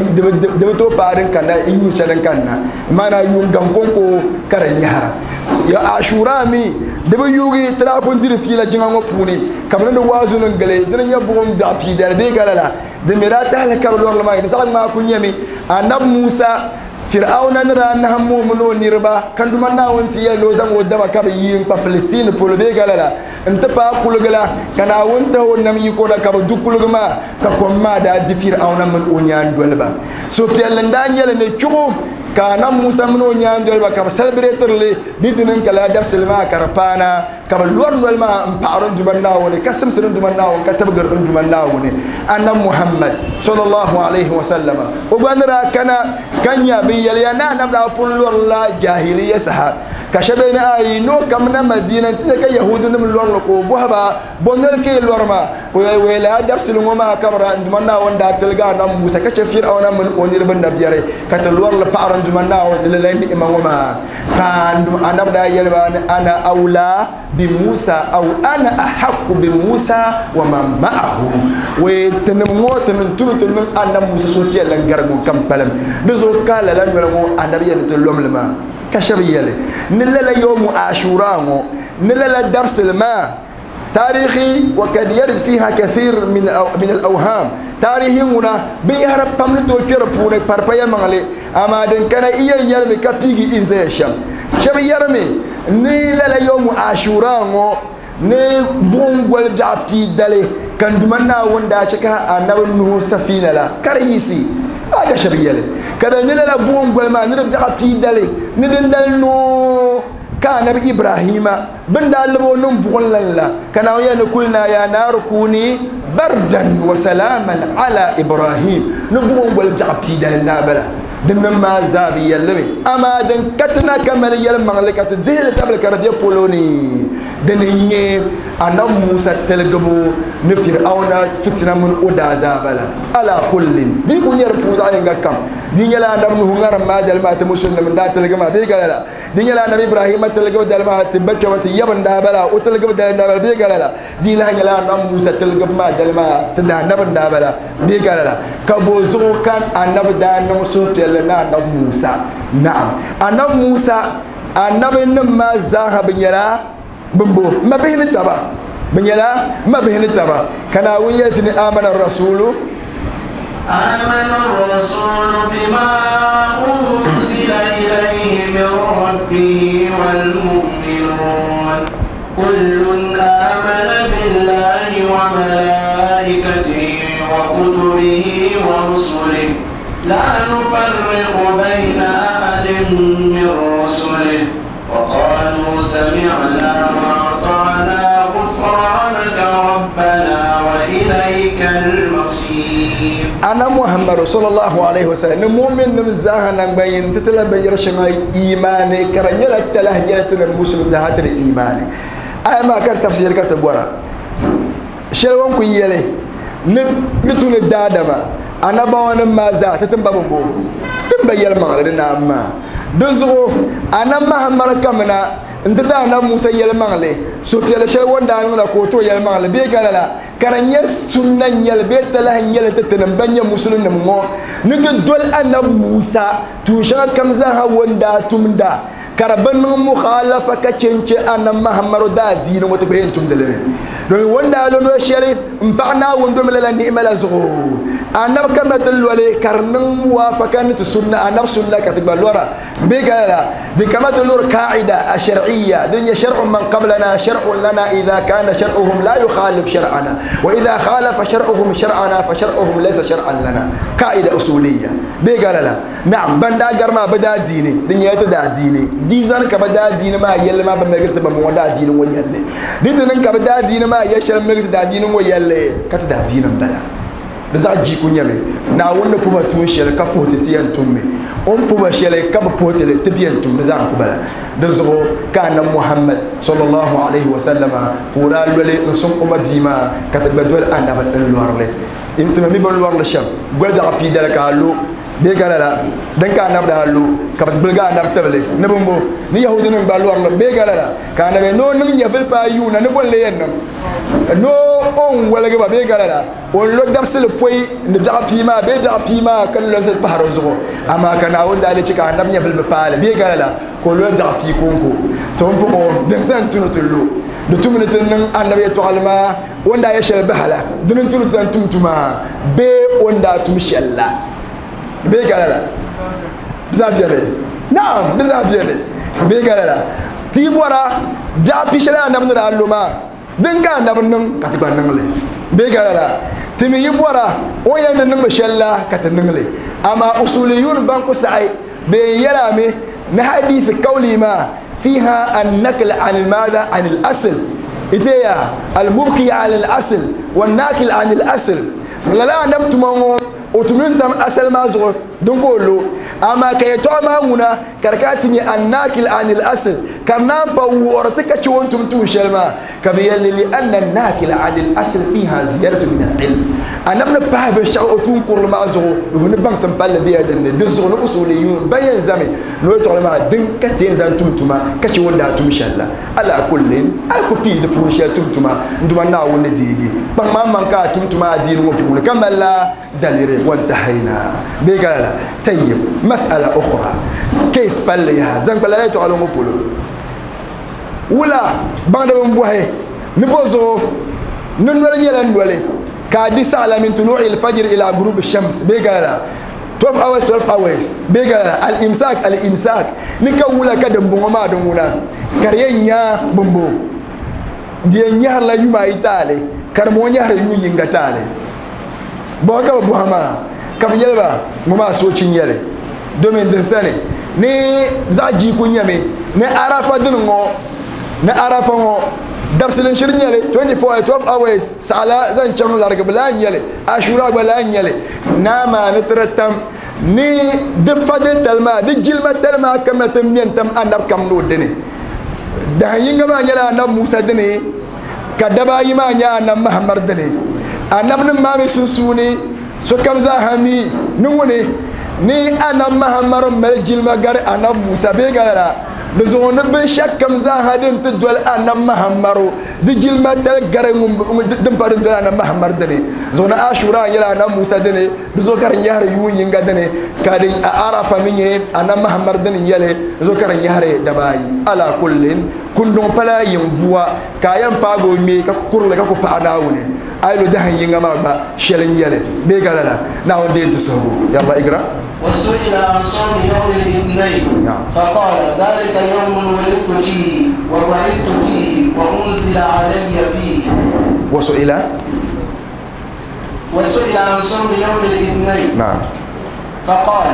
دبتو بارن كنا يو سدن كنا مانا يون غانكونكو كارن يهرا يا عاشورا مي دب يوغي ترافون دير فيلا جينغو بوني كامن دو وازو نغلي دن يبوم دا بي دال بي غالا دميرا تال كارلور لما يزال ما كو نيمي انب موسى فرعون نرى أنهم مؤمنون نربا كان دمنا وانتي لوزم ودما كبيين فلسطين بولبي قال انت با كولغلا كان وانت هو نم يكودا كب دوكولغما ككوما دا دي فرعون من اونيان دولبا سو بيلن دانيال ني تشو كان موسى من اونيان دولبا كب سلبريتر لي دي تنن كلا درس ما كربانا كب لور نول ما امبارون دمنا وني كسم سرن دمنا وني كتب غرن دمنا وني أن محمد صلى الله عليه وسلم وبنرا كان كان يبي يلينا نبدا بقول لا جاهلية سها كشبين أي نو كمنا مدينة تلك يهود من لور لكو بوهبا بندر كي لور ما ويلا درس لهم كبر دمنا وندا تلقى نم موسى كشفير أو نم من أونير بن نبيري كتلور لبعض دمنا ولين إمام ما كان أنا بدأ يلبان أنا أولى بموسى أو أنا أحق بموسى ومن معه وتنمو تنتو تنم أنا موسى سوتي لنجرم كم بلم نزول قال لن يلمو أنا بيان تلوم لما كشبيله نلا يوم عاشوراء نلا درس الماء تاريخي وقد يرد فيها كثير من من الأوهام تاريخي هنا بيهرب بمن توكير بونه بربايا مالي أما دن كان إيه يرمي كتيجي إنزيشم شبي يرمي نلا يوم عاشوراء ne bongol dati dale kan dumanna wanda shaka annabi nuhu safina la karisi aga shabiyale kada ne la bongol ma ne dati dale ne den dal no ka annabi ibrahima bin dalbo nun bongol la kana ya ne kulna ya nar kuni bardan wa salaman ala ibrahim ne bongol dati dale na bala دن ما زابي يلمي أما دن كتنا كمل يلم مغلقة ذهل تبل كربية بولوني Dini n-nyɛ annabi Musa tiligibu ni Fir'auna fitina mini o daazaaba la ala kullin di ku nyɛ di puuni zaɣ yinga kam di nyɛla annabi Nuhu ŋarim maa dali maa ti musulnim n daa tiligi maa bee gala la di nyɛla annabi Ibrahima tiligibu dali maa ti ba kpɛma ti yab n daa bala o tiligibu dali n daa bala bee gala la di lahi nyɛla annabi Musa tiligibu maa dali maa ti daa annabi n daa bala bee gala la ka bo zuɣu kan annabi daa niŋ suhupiɛlli ni annabi Musa naam annabi Musa annabi nim maa zaaha bi nyɛla bimbo mabihi ni taba bi nyɛla mabihi ni taba ka Naawuni yɛli ti ni amana rasulu آمن الرسول بما أنزل إليه من ربه والمؤمنون كل آمن بالله وملائكته وكتبه ورسله لا نفرق بين أحد من رسله وقالوا سمعنا وأطعنا غفرانك ربنا وإليك المصير. أنا محمد صلى الله عليه وسلم مؤمن نمزاها نبين تتلا بيرشما إيماني كرنيلا تلهجات المسلم زهات الإيمان. أي ما كان تفسير كتب ورا شلون كيالي نتون الدادما أنا بوانا ما زات تتنبا بمبو تتنبا يلمان لنا ما دزغو أنا محمد كمنا انت أنا موسى يلمان لي سوتي شلون دانونا كوتو يلمان لي بيقال لا كرنيا سنة يل بيت له يل تتنبني مسلم نمو نتدول أنا موسى توشا كم زها وندا تمدا كربن مخالفة كتشنش أنا محمد دا زين وتبين تمدلني دومي وندا لونو شيري مبعنا وندوم لا نعمة لا زغو أنا كما تلولي كرن موافقة نتسنة أنا سنة كتب لورا بيقال دي كما تلور قاعدة الشرعية دنيا شرع من قبلنا شرع لنا إذا كان شرعهم لا يخالف شرعنا وإذا خالف شرعهم شرعنا فشرعهم ليس شرعا لنا قاعدة أصولية بيقال لا نعم بندا قرما بدا زيني دنيا تدا زيني ديزان كبدا زيني ما يلي ما بمغرت بمودا زيني ويلي ديتن كبدا زيني ما يشل مغرت دا زيني ويلي كتدا زيني بلا da ji ku nyame na wanda kuma tun shele ka pote tiyan tumme on puba shele ka pote le tiyan tumme za ku bala da zo kana Muhammad sallallahu alaihi wa sallama kura lole in sun kuma bima ka tabba dole annaba dan luwarle in tuma mi bon luwarle sham gwada rapi dal ka lo be galala dan ka annaba da lo ka bulga annaba table ne bombo ni yahudi nan ba luwarle be galala ka annabi no nin ya fil pa yuna ne bon le yen no on wala ga be galala on lo dabsel poy ne da pima be da pima kan lo sel paharo zugo amma kana wanda ale cika annab nya fil paale be galala ko lo da pi konko to on po den san tunu tullu de tumne tan annabi to alma wanda ya shel bahala dun tunu tan tumtuma be wanda tum shella be galala zabiyale na'am zabiyale be galala ti bora da pi shela annab na alluma dinga annab nan ka tiba nan le be galala timi yi bora o yan nan mashalla ka ta nan le amma usuliyun ban ku sai be yala me na hadith kauli ma fiha an-nakl an al-madha an al-asl iteya al-mubqi ala al-asl wan-nakil an al-asl la la nam tumango o tumin tam asal ma zo don ko lo amma kay to ma nguna karkati ni an-nakil an al-asl karna ba worta ka ci wontum tu shelma kabiyal li anna an-nakil an al-asl fiha ziyadatu min al-ilm anabna pa be sha'u tun kur ma zo ni bang sam pal biya den de zo no usuliyun bayan zame no to ma din ka tin zan tumtuma ka ci wonda tum shalla ala kullin al ku pi de pour shal tumtuma nduma na wonde digi bang ma man ka tumtuma din mo pul kamala dalire وانتهينا بقال طيب مسألة أخرى كيس باليها زنك لا تعلم بولو ولا بعد من بوهي نبوزو ننولي يلا نولي كادي سالة من طلوع الفجر إلى غروب الشمس بقال twelve hours twelve hours بقال الإمساك الإمساك نكولا كدم بوما دمونا كرينيا بومبو دي نيار لا يما إيطالي كرمو نيار يو ينغتالي bɔn ka bi buha maa ka bi yɛli ba ŋɔ maa soochi n-nyɛli domin din sani ni zaɣ jiiku nyɛmi ni arafa dini ŋɔ ni arafa ŋɔ dabisili n-shiri nyɛli twenty-four twelve hours saɣala zaŋ chaŋ larigibu laa n-nyɛli ashura gba laa n-nyɛli naa maa ni tiri tam ni di fadil tali maa di jilima tali maa kamina ti mɛ n-tam anabi kam ni o dini Dahin yinga maa nyɛla annabi Musa dini ka dabaayi maa nyɛ annabi Muhammad dini annabinima maa mi sunsuuni sokam zaa ha mi ni ŋuni ni annabi Muhammad mali jilima gari annabi Musa bee ka lala di zuɣu ni binshɛɣu kam zaa ha din ti doli annabi Muhammad di jilima tali gari din pa din doli annabi Muhammad dini zuɣu ni Ashura nyɛla annabi Musa dini di zuɣu ka di nyɛhiri yuun yinga dini ka di Arafa mi nyɛ annabi Muhammad dini nyɛli di zuɣu ka di nyɛhiri dabaayi ala kullin kunduŋ pala yin bua ka a yɛn paagi o ŋmee ka kurili ka ku paɣa Naawuni a yi lo dahin yinga maa gba shɛli n nyɛli bee ka lala Naawuni deei ti suhigu yalla igra. وسئل عن صوم يوم الاثنين فقال ذلك يوم ولدت فيه وبعثت فيه وأنزل علي فيه. وسئل وسئل عن صوم يوم الاثنين نعم فقال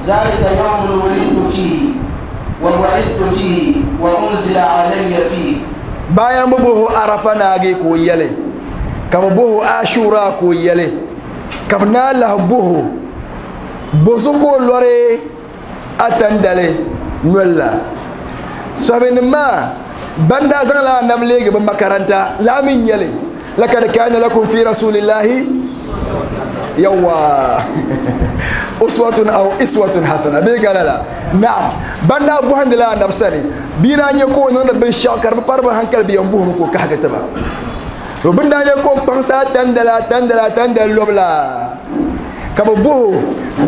ذلك يوم ولدت فيه وبعثت فيه وأنزل علي فيه. bayan buhu Arafa naagi ko yele ka buhu Ashura ko yele ka na lah buhu bozo ko lore atandale nolla sahabin ma banda zan la nam lege ba makaranta la min yele lakad kana lakum fi rasulillahi yawa uswatun aw iswatun hasana be galala na'am banda buhandila nafsani bina nye ko non bin shakar parba hankal bi yambu ko ka ga taba to binda nye ko pansa tandala tandala tandal lobla ka bu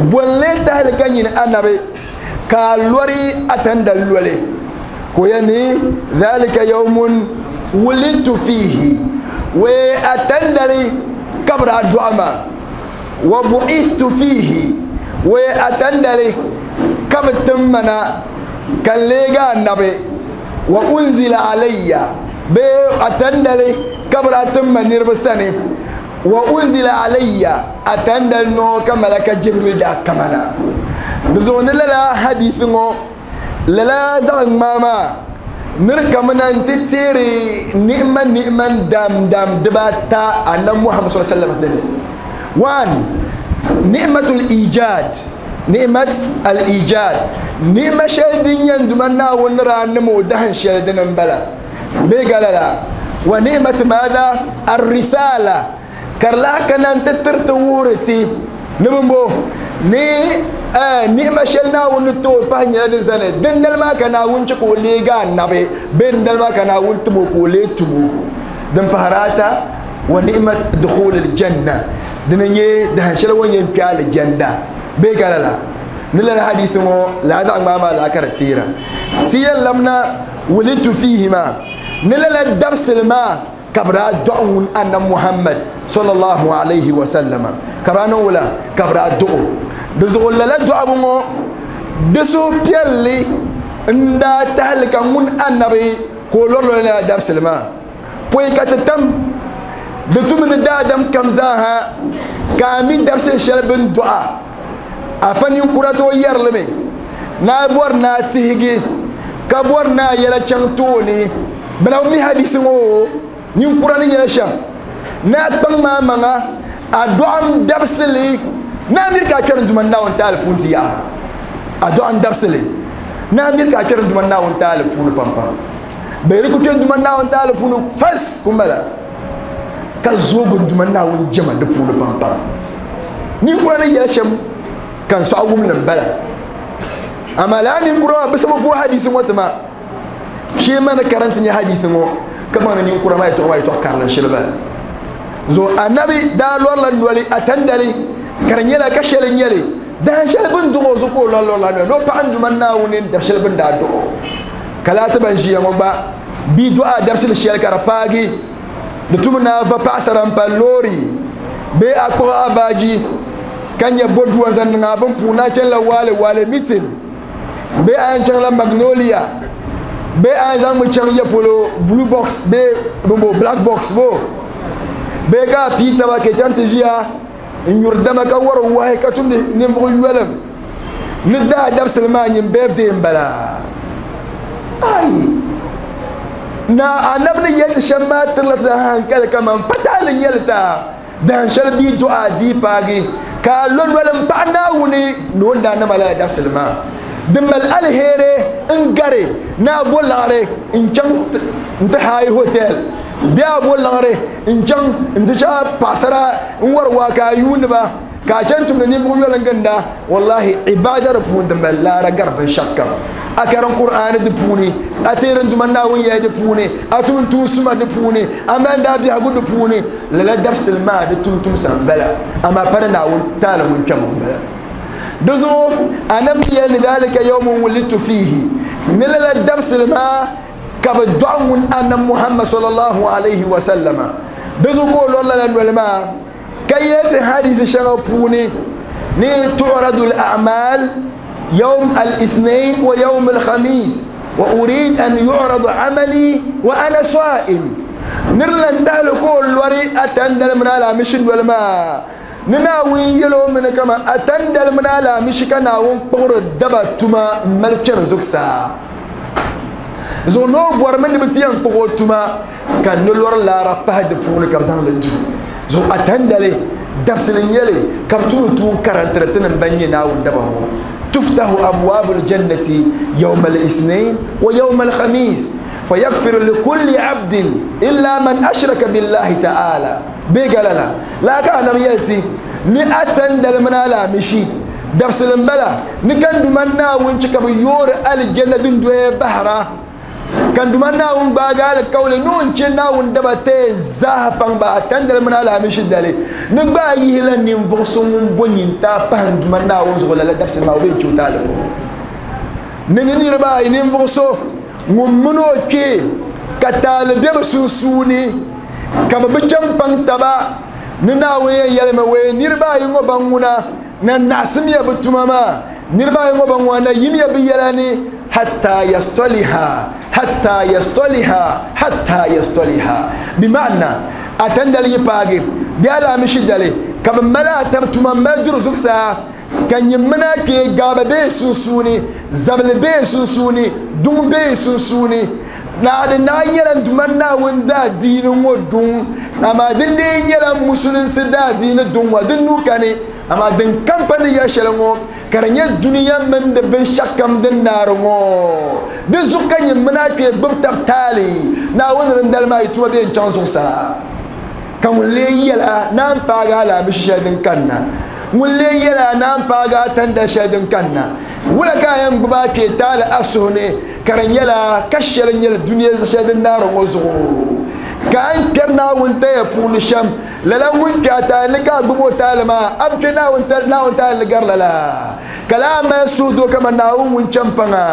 bolle tahal kanyin annabi ka lori atandal lole ko yani dhalika yawmun wulidtu fihi wa atandali kabra du'ama wa bu'ithtu fihi wa atandali kabtumana kan lega annabi wa unzila alayya be atandali kabra tumma nirbsani wa unzila alayya atandal no kamalaka Jibril da kamana bizon lala hadithin o lala zan mama nirkamana titiri ni'man ni'man dam dam dibata annabi Muhammad sallallahu alaihi wasallam. One, ni'matul ijad, ni'mat al ijad, ni'ma shaydin yanduman na wonra nimo dahan shaydin bala be galala wa ni'mat madha ar-risala karla kanan tattarta wurati nibimbo ni ni'ma shelna won to panya din zane din dalma kana wun ci ko lega nabe bin dalma kana wun tumo ko le tumo dan faharata wa ni'mat dukhul al-janna dinanye da shel won yen fiya al-janna be galala nila hadithin wo la da mama la karatira tiyan lamna wulitu fihima nila la dabsil ma kabra du'un anna Muhammad sallallahu alaihi wa sallama kabra no wala kabra du'u duzu la du'a mo dusu pialli nda tahlika mun annabi ko lorlo la dabsil ma poy katatam dutum da dam kamzaha kamin dabsil shalbin du'a afani kurato yarlime na bor na tihigi ka bor na yela chantoni bala mi hadisi ngo ñin kurani ñela sham na bang ma manga a doam dabsili na mir ka kern duma na on tal punti ya a doam dabsili na mir ka kern duma na on tal punu pampa be riku kern duma na on tal punu fas kumbala ka zogo duma na on jama de punu pampa ñin kurani ñela sham kan so awum nan bala amala ni kura ba sabu fu hadisi ngotma shi mana karanta ni hadisi ngo kama ni kura mai to mai to karlan shilba zo annabi da lor lan wali atandali karnyela ka shelin yele dan shelbin dugo zo ko lor lor lan no pa andu man nawunin da shelbin da do kala ta ban shi yango ba bi du'a darsil shel karapagi da tumna fa pasaran palori be akwa abaji kanya bodu zan nga ban puna ken la wale wale meeting be an ken la magnolia be an zan mu ken ya polo blue box be bombo black box bo be ga pita ba ke janta jiya in yurdama ka waro wahe ka tumde ne mbo yuwalam ni da dab salman yin birthday bala ai na anabni yel shamma tilata hankal kaman patalin yelta dan shalbi du'a di pagi ka lon walam pa nawuni non da na mala dab salman dimal alhere N gari na bo laɣari n chaŋ n ti haayi hotel bee a bo laɣari n chaŋ n ti chaŋ paɣasara n wari waa ka a yuuni ba ka a chaŋ tumdi ninvuɣu yoli n ginda wallahi ibada di puuni di mali laara gari binshɛɣu kam a karim Qur'ani di puuni a teeri duma Naawuni yɛli di puuni a tum tuun suma di puuni a mali daa biɛhigu di puuni lala dabisili maa di tum tumsa n bala amaa pa ni Naawuni taali ŋun kpɛm n bala di zuɣu anabi yɛli ni dhalika yawmun wulidtu fihi ni lala dabisili maa ka bi dɔɣi ŋun annabi Muhammad sallallahu alayhi wa sallama di zuɣu ka o lɔri lala noli maa ka yɛli ti hadisi shɛŋa puuni ni tu'radu al-a'mal يوم الاثنين ويوم الخميس وأريد أن يعرض عملي وأنا صائم نرلن دهلكو الوري أتندل من على مشن والماء نناوي يلو من كما أتندل من على مش كناون قر الدبا تما ملكر زكسا زو نو بور من بتيان قر تما كان نلور لا ربه دفون كبزان لجو زو أتندلي درسلين يلي كبتو تو كارنترتن بني ناون دبا تفتح أبواب الجنة يوم الاثنين ويوم الخميس فيغفر لكل عبد إلا من أشرك بالله تعالى بيقال لا كان يأتي نأتن دلمنا لا مشي درس المبلا نكن دمنا ونشك بيور الجنة دون دوي بحرة كان دمنا ونباقال الكول نون شنا وندبتي زهبان بأتن دلمنا لا مشي دالي نبا يهلا ننفسهم بنين تابان دمنا ونزغل لا درس ما وين شو نني ربا ننفسو ŋun kpee ka taali be bi sunsuuni ka bi bi chaŋ paŋ taba ni Naawuni yɛn yɛlimi wee niriba ayi ŋɔ ban ŋuna na naɣisimiya bi tuma maa niriba ayi ŋɔ ban ŋuna na yimiya bi yɛla ni hatta yastaliha hatta yastaliha hatta yastaliha bi ma'ana a tandali yi paagi di alaamishi dali ka bi mali a tabi tuma mali duri zuɣusaa ka nyimina kpee gaaba bee sunsuuni zabili bee sunsuuni duŋ bee sunsuuni naadi naa nyɛla duma Naawuni daadiini ŋɔ duŋ amaa din lee nyɛla musulinsi daadiini duŋ ŋɔ din nuu kani amaa din kampani yɛli shɛli ŋɔ ka di nyɛ duniya mini di binshɛɣu kam din naari ŋɔ di zuɣu ka nyimina kpee gbubi tabi taali Naawuni dindali maa yi tuma bee n chaŋ zuɣusaa ka ŋun lee yɛla naan paagi alaamishi shɛli din kanna ŋun lee yɛla naan paagi a tanda shɛli din kanna wula ka a yɛn gbubi a kpee taali a suhu ni ka di nyɛla ka shɛli nyɛla duniya shɛli din naari ŋɔ zuɣu ka a ni kpɛri Naawuni taya puuni shɛm lala ŋun kpɛ a taali ni ka a gbubi o taali maa a bi kpɛ Naawuni taali ni gari lala ka laa mali suhudoo kaman Naawuni ŋun chɛmpaŋa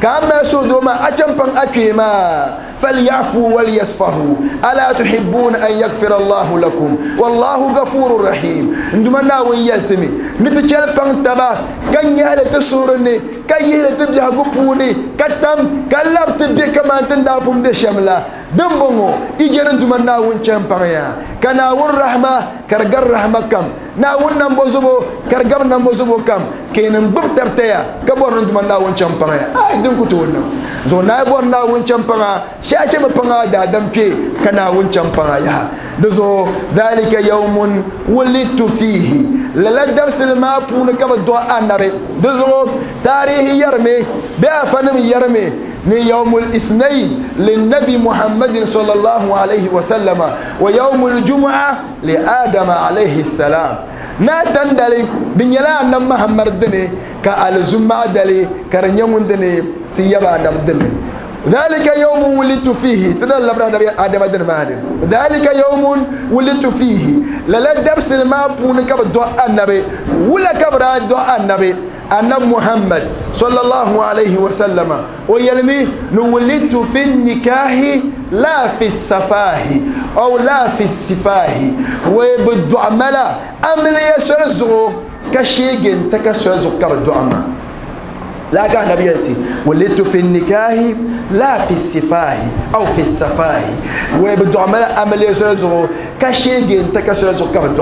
ka a mali suhudoo maa a chɛmpaŋ a kpee maa فليعفوا وليصفحوا ألا تحبون أن يغفر الله لكم والله غفور رحيم عندما ناوي يلتمي نتجل بان تبا كان يهل تسورني كان يهل تبجه قبوني كتم كلاب تبي كما تندابهم بشملا دمبونو إجن عندما ناوي نشامبانيا كناون رحمة كرجر رحمة كم ناون نمبوزبو كرجر نمبوزبو كم كين نبب تبتيا كبر عندما ناوي نشامبانيا آي دم كتورنا زو نايبور ناوي نشامبانيا شاشة بنا دادم كي كناون شامبانيا دزو ذلك يوم ولدت فيه للا درس ما بون كما دعاء النبي دزو تاريخ يرمي بأفنم يرمي يوم الاثنين للنبي محمد صلى الله عليه وسلم ويوم الجمعة لآدم عليه السلام ناتن دالي دنيلا أن محمد دني كالزمع دالي كرنيمون دني تيابا دني ذلك يوم ولدت فيه تدل آدم دن مادن ذلك يوم ولدت فيه لا درس ما بون كبر النبي ولا كبر دعاء النبي أن محمد صلى الله عليه وسلم ويلمي نولدت في النكاح لا في السفاه أو لا في السفاه وبالدعاء ملا أملي يسرزو كشيجن تكسرزو كبر لا كان نبيتي ولدت في النكاح لا في السفاه أو في السفاه وبالدعاء ملا أملي يسرزو كشيجن تكسرزو كبر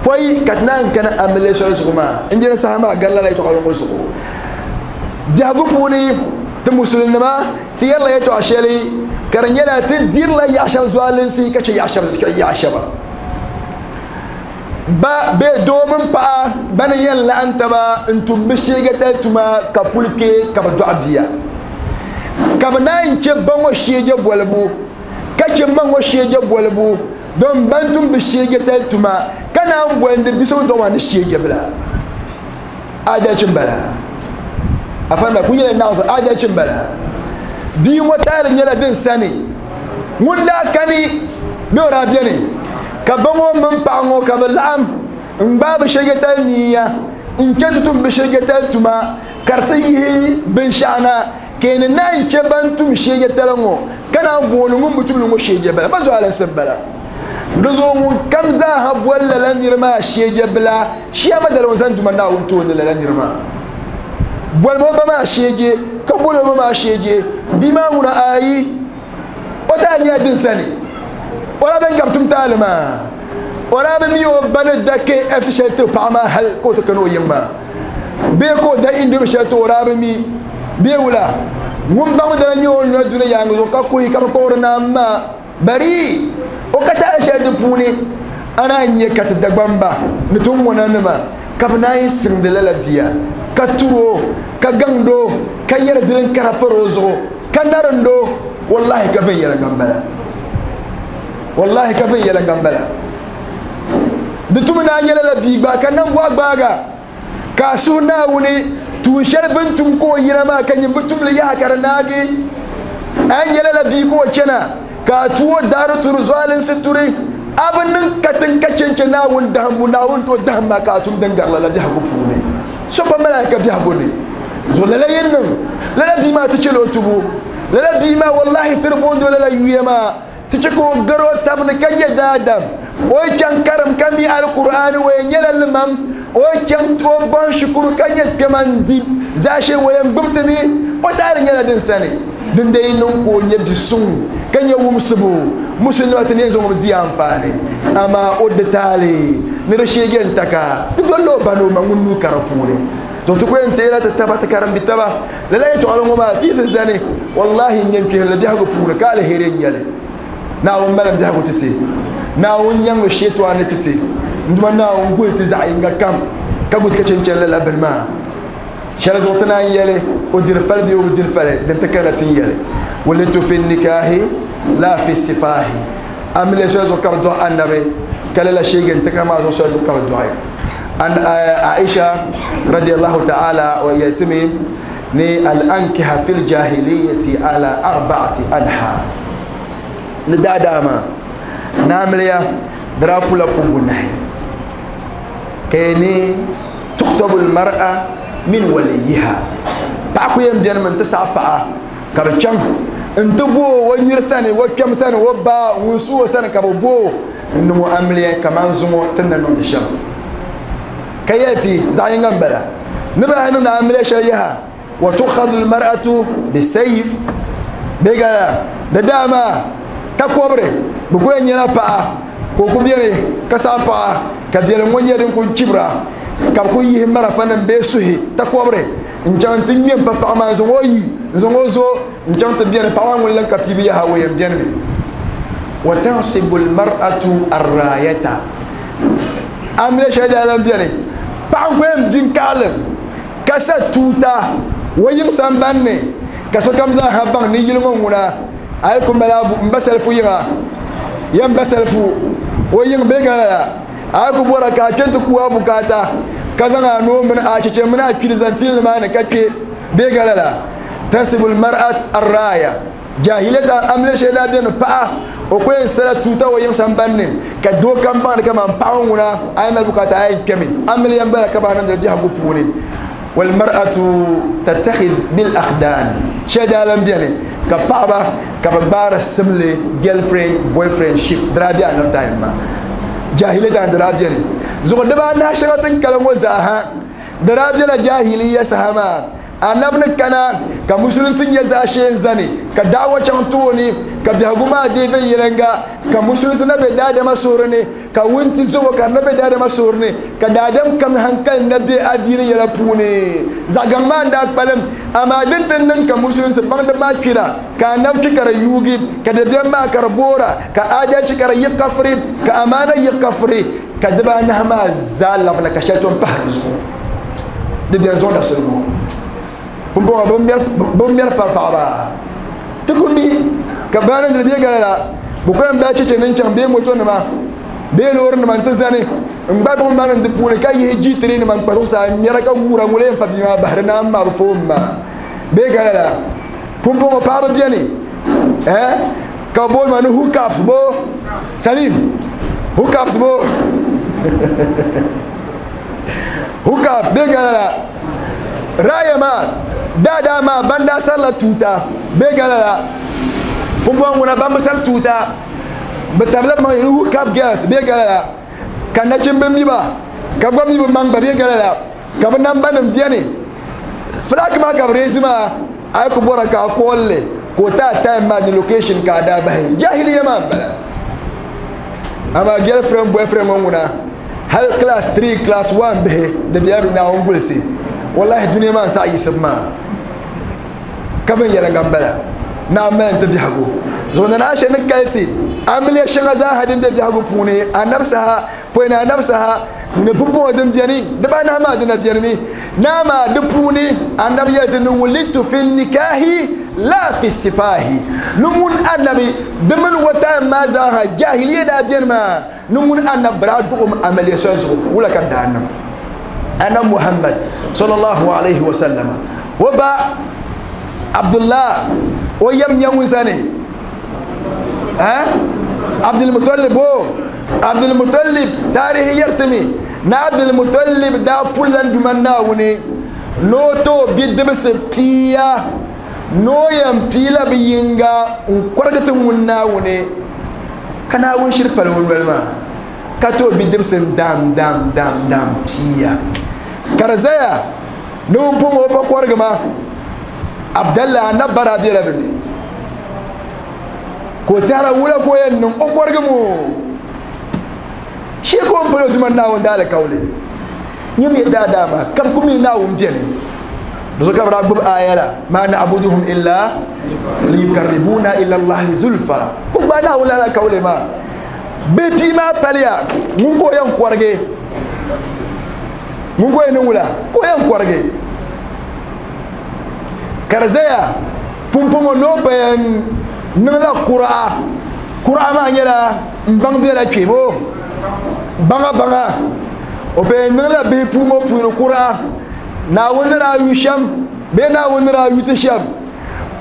poi katnan kana amle so zuma injina sahama galla lay to qalon so jagu puni te muslimma ti yalla yato ashali karanyala te dir la ya shal zwalin si kace ya shal ya shaba ba be domin pa bana yalla anta ba intum bishiga ta tuma ka pulke ka ba du'abiya Ka bɛ naan che ba ŋɔ sheege bolibu ka che ma ŋɔ sheege bolibu don ban tum bi sheege tali tuma ka naan bolindi bi so dɔɣima ni sheege bila adalci bala afanda ku nyɛla naɣ zuɣu adalci bala bia ŋɔ taali nyɛla din sani ŋun daa kani bɛ o daa beni ka ba ŋɔ mini paɣa ŋɔ ka bɛ laɣim n gbaai bi sheege tali niya n che ti tum bi sheege tali tuma ka di ti yihi binshaɣu na ka ni naan che ban tum sheege tali ŋɔ ka naan booni ŋun bi tumli ŋɔ sheege bala ma zuɣulinsi n bala di zuɣu ŋun kam zaaha boli lala niri maa sheege bila shiyama dali ŋun zaŋ duma Naawuni tooni lala niri maa bolimi o ba maa sheege ka boli o ma maa sheege bia maa ŋuna ayi o taa nyɛla din sani o daa bɛn gabi tum taali maa o daa bi mi o ba ni da K F C shɛli ti paɣa maa hali ka o ti kana o yiŋ maa bee ka o da indomi shɛli ti o daa bi mi bee wula ŋun baŋ dana nyɛ o ni lɔri duni yaangi zuɣu ka kuhi ka bi kpuɣiri naam maa bari o ka taali shɛli di puuni ana n nyɛ ka ti Dagbamba ni ti ŋuna nima ka bi naan siŋdi lala bia ka turi o ka gaŋdi o ka yɛri zilin kara pari o zuɣu ka narindi o wallahi ka viɛnyɛliŋga n bala wallahi ka viɛnyɛliŋga n bala di tumi naa nyɛla la bia gba ka nambɔɣu gbaaga ka a suhu Naawuni tuun shɛli bin tum ka o yina maa ka nyin bi tumli yaha ka di naagi a nyɛla la bia ka o chana ka a tu o daari turi zualinsi turi a bi niŋ katiŋ ka chenche Naawuni dahimbu Naawuni to dahim maa ka a tum din gari lala biɛhigu puuni so pa malaika biɛhigu ni zuɣu lala yi niŋ lala bia maa ti chɛla o tubu lala bia maa wallahi tiri bondi o lala yuya maa ti che ka o gari o tabi ni ka nyɛ daadam o yi chaŋ karim ka mi alkur'ani o yɛn nyɛla limam o yi chaŋ o bɔhi shikuru ka nyɛ kpɛma n di zaashee o yɛn gbubi ti mi o taali nyɛla din sani din dee niŋ ka o nyɛ bi suŋ ka nyɛ wumsibu musulima ti ni yɛn zaŋ o di anfaani amaa o di taali ni di sheege n taka di dolli o ba ni o ma ŋun nuu ka di puuni zuɣu ti ku yɛn teela ti taba ti karim bi taba lala yɛltɔɣali ŋɔ maa ti si zani wallahi n nyɛ kpihili biɛhigu puuni ka aliheri n nyɛli Naawuni malim biɛhigu ti ti Naawuni nyaŋmi sheetɔɣa ni ti ti n duma Naawuni guli ti zaɣ yinga kam ka guli ka chenchen lala bini maa shɛli zuɣu ti naan yɛli o diri fali bee o bi diri fali din ti kana ti yɛli walitu fi nikahi la fi sifahi amile shɛli zuɣu ka bi dɔɣi annabi ka lala sheege n ti ka maa zuɣu shɛli zuɣu ka bi dɔɣi an Aisha radiyallahu ta'ala wa yɛltimi ni al-ankiha fil jahiliyati ala arba'ati anha ni daadaama naamiliya dara pula pubu nahi ka yɛ ni tukhtabu al-mar'a min waliyiha paɣa ku yɛn bɛni mi n ti saɣa paɣa ka bi chaŋ n ti bo o nyiri sani o kpɛm sani o ba ŋun su o sani ka bi bo n niŋ o amiliya kaman zuŋɔ ti na niŋdi shɛm ka yɛli ti zaɣ yinga n bala ni bi lahi niŋdi amiliya shɛli yaha wa tukhadu al-mar'atu bisayf bee gala di daa takobiri bi ku yɛn nyɛla paɣa ka o ku bɛni ka saɣa paɣa ka viɛlim ŋɔ nyɛ din ku chibira ka bi ku yihi marafa nim bee suhi takobiri n chaŋ ti ŋmɛ n pa paɣa maa n zaŋ o yi n zaŋ o zo n chaŋ ti bɛni paɣa maa ŋun lan ka piibu yaha o yɛn bɛni mi wa tansibu almar'atu arrayata amiliya shɛli daa lan bɛni paɣa n ku yɛn di n kaɣalim ka sa tuuta o yiŋ sambani ni ka sokam zaa ha baŋ ni yili ŋɔ ŋuna ayi ku mali n ba salifu yiŋa yɛn ba salifu o yiŋ bee ka lala ayi ku bɔra ka a kpɛ ti kuwa bukaata ka zaŋ a noo mini a cheche mini a kpiri zaŋ tili nimaani ka kpɛ bee ka lala tansibu almar'at arraya jahiliyata amiliya shɛli daa bɛni paɣa o ku yɛn sala tuuta o yiŋ sambani ni ka doo kam baŋdi kaman paɣa ŋuna a yi mali bukaata a yɛn kpɛmi amiliya n bala ka bahi niŋdili biɛhigu puuni walmar'atu tattakhid bil akhdan shɛli daa lan bɛni ka paɣaba ka bi gbaari simli girlfriend boyfriend ship di daa bɛ anab time maa jahiliya di daa bɛni zuɣu dibaanahi shɛŋa tin kali ŋɔ zaa ha di daa bɛla jahiliya saha maa anab ni kana ka musulinsi nyɛ zaashee n zani ka daawa chaŋ tooni ka biɛhigu maa dee viɛnyɛlinga ka musulinsi na be daadama suhuri ni ka wunti zobo ka di na be daadama suhuri ni ka daadam kam hankali na be adiini yɛla puuni zaɣ gaŋ maa n daa kpalim amaa din ti niŋ ka musulinsi baŋdi maa kpira ka anab kpi ka di yuugi ka dabiɛm maa ka di boora ka adalchi ka di yiɣi kafiri ka amaana yiɣi kafiri ka dibaanahi maa zaa labina ka shɛli tom pahi di zuɣu di bɛni zuɣu dabisili ŋɔ pumpɔŋɔ bin mɛri pa paɣaba Ti ku mi ka baana diri bee gala la bi ku yɛn bahi cheche ni n-chaŋ bee motonima bee loorinima n-ti zani n gba buɣim maa niŋ di puuni ka yihi G three nima n kpa zuɣusaa n ŋmɛra ka guura ŋuli yɛn fa bia maa bahiri na m-ma bi foon maa bee gala la pumpɔŋɔ paɣaba beni eh ka booni ma ni hookups bo Salim hookups bo hookup bee gala la raaya maa daadaa maa ban daa sarila tuuta bee gala la pumpɔŋɔ ŋuna ban bi sari tuuta bi tabila maŋ ni hookup girls bee gala la ka nachimbi mi ba ka gba mi bi maŋ ba bee gala la ka bi namba nim beni flag maa ka bi reezi maa a yi ku bɔra ka a kolli ka o taa time maa ni location ka a daa bahi jahiliya maa n bala amaa girlfriend boyfriend ŋɔ ŋuna hali class three class one bihi di bela bi Naawuni gulisi wallahi duniya maa n saɣa yiɣisibu maa ka binyɛra n bala naa mali n ti biɛhigu zuɣu nana Aisha ni kalisi amiliya shɛŋa zaaha din be biɛhigu puuni anabi saha pɔi ni anabi saha ni pumpɔŋɔ din beni dibaanahi maa dina beni mi naa maa di puuni anabi yɛli ti ni wulidtu fi nikahi la fi sifahi ni ŋun anabi di mini o time maa zaaha jahiliya daa beni maa ni ŋun anabi bi daa duɣum amiliya soli zuɣu wula ka daa niŋ annabi Muhammad sallallahu alaihi wa sallam o ba Abdullah o yam nyɛ ŋun sani eh Abdul Muttalib o Abdul Muttalib tarihi yɛrtimi na Abdul Muttalib daa pullan duman Naawuni no to bidibsi pia no yɛn piila bi yinga n kɔrigi ti ŋun Naawuni ka Naawuni shiri pali o noli maa ka to bidibsi n dam dam dam dam pia ka di zaya ni ŋun puŋ o pa kɔrigi ma Abdallah anabara bela bi ni ko tɛhira wula ko yɛn niŋ o kɔrigi mo shi ko n pali o duma Naawuni daalikauli nyɛ mi daadaa maa ka bi ku mi Naawuni beni di zuɣu ka bi daa gbubi aya la ma na'buduhum illa liyukarribuna ila Allahi zulfa ku gbaai Naawuni daalikauli maa bi bia maa paliya ŋun ka o yɛn kɔrigi ŋun ka o yɛn niŋ wula ka o yɛn kɔrigi ka di zaya pumpɔŋɔ ni o pa yɛn niŋla kuraa kuraa maa nyɛla n baŋ bela kpe bo baŋa baŋa o pa yɛn niŋla bihi puu ŋɔ puuni kuraa Naawuni ni daa yu shɛm bee Naawuni ni daa yu ti shɛm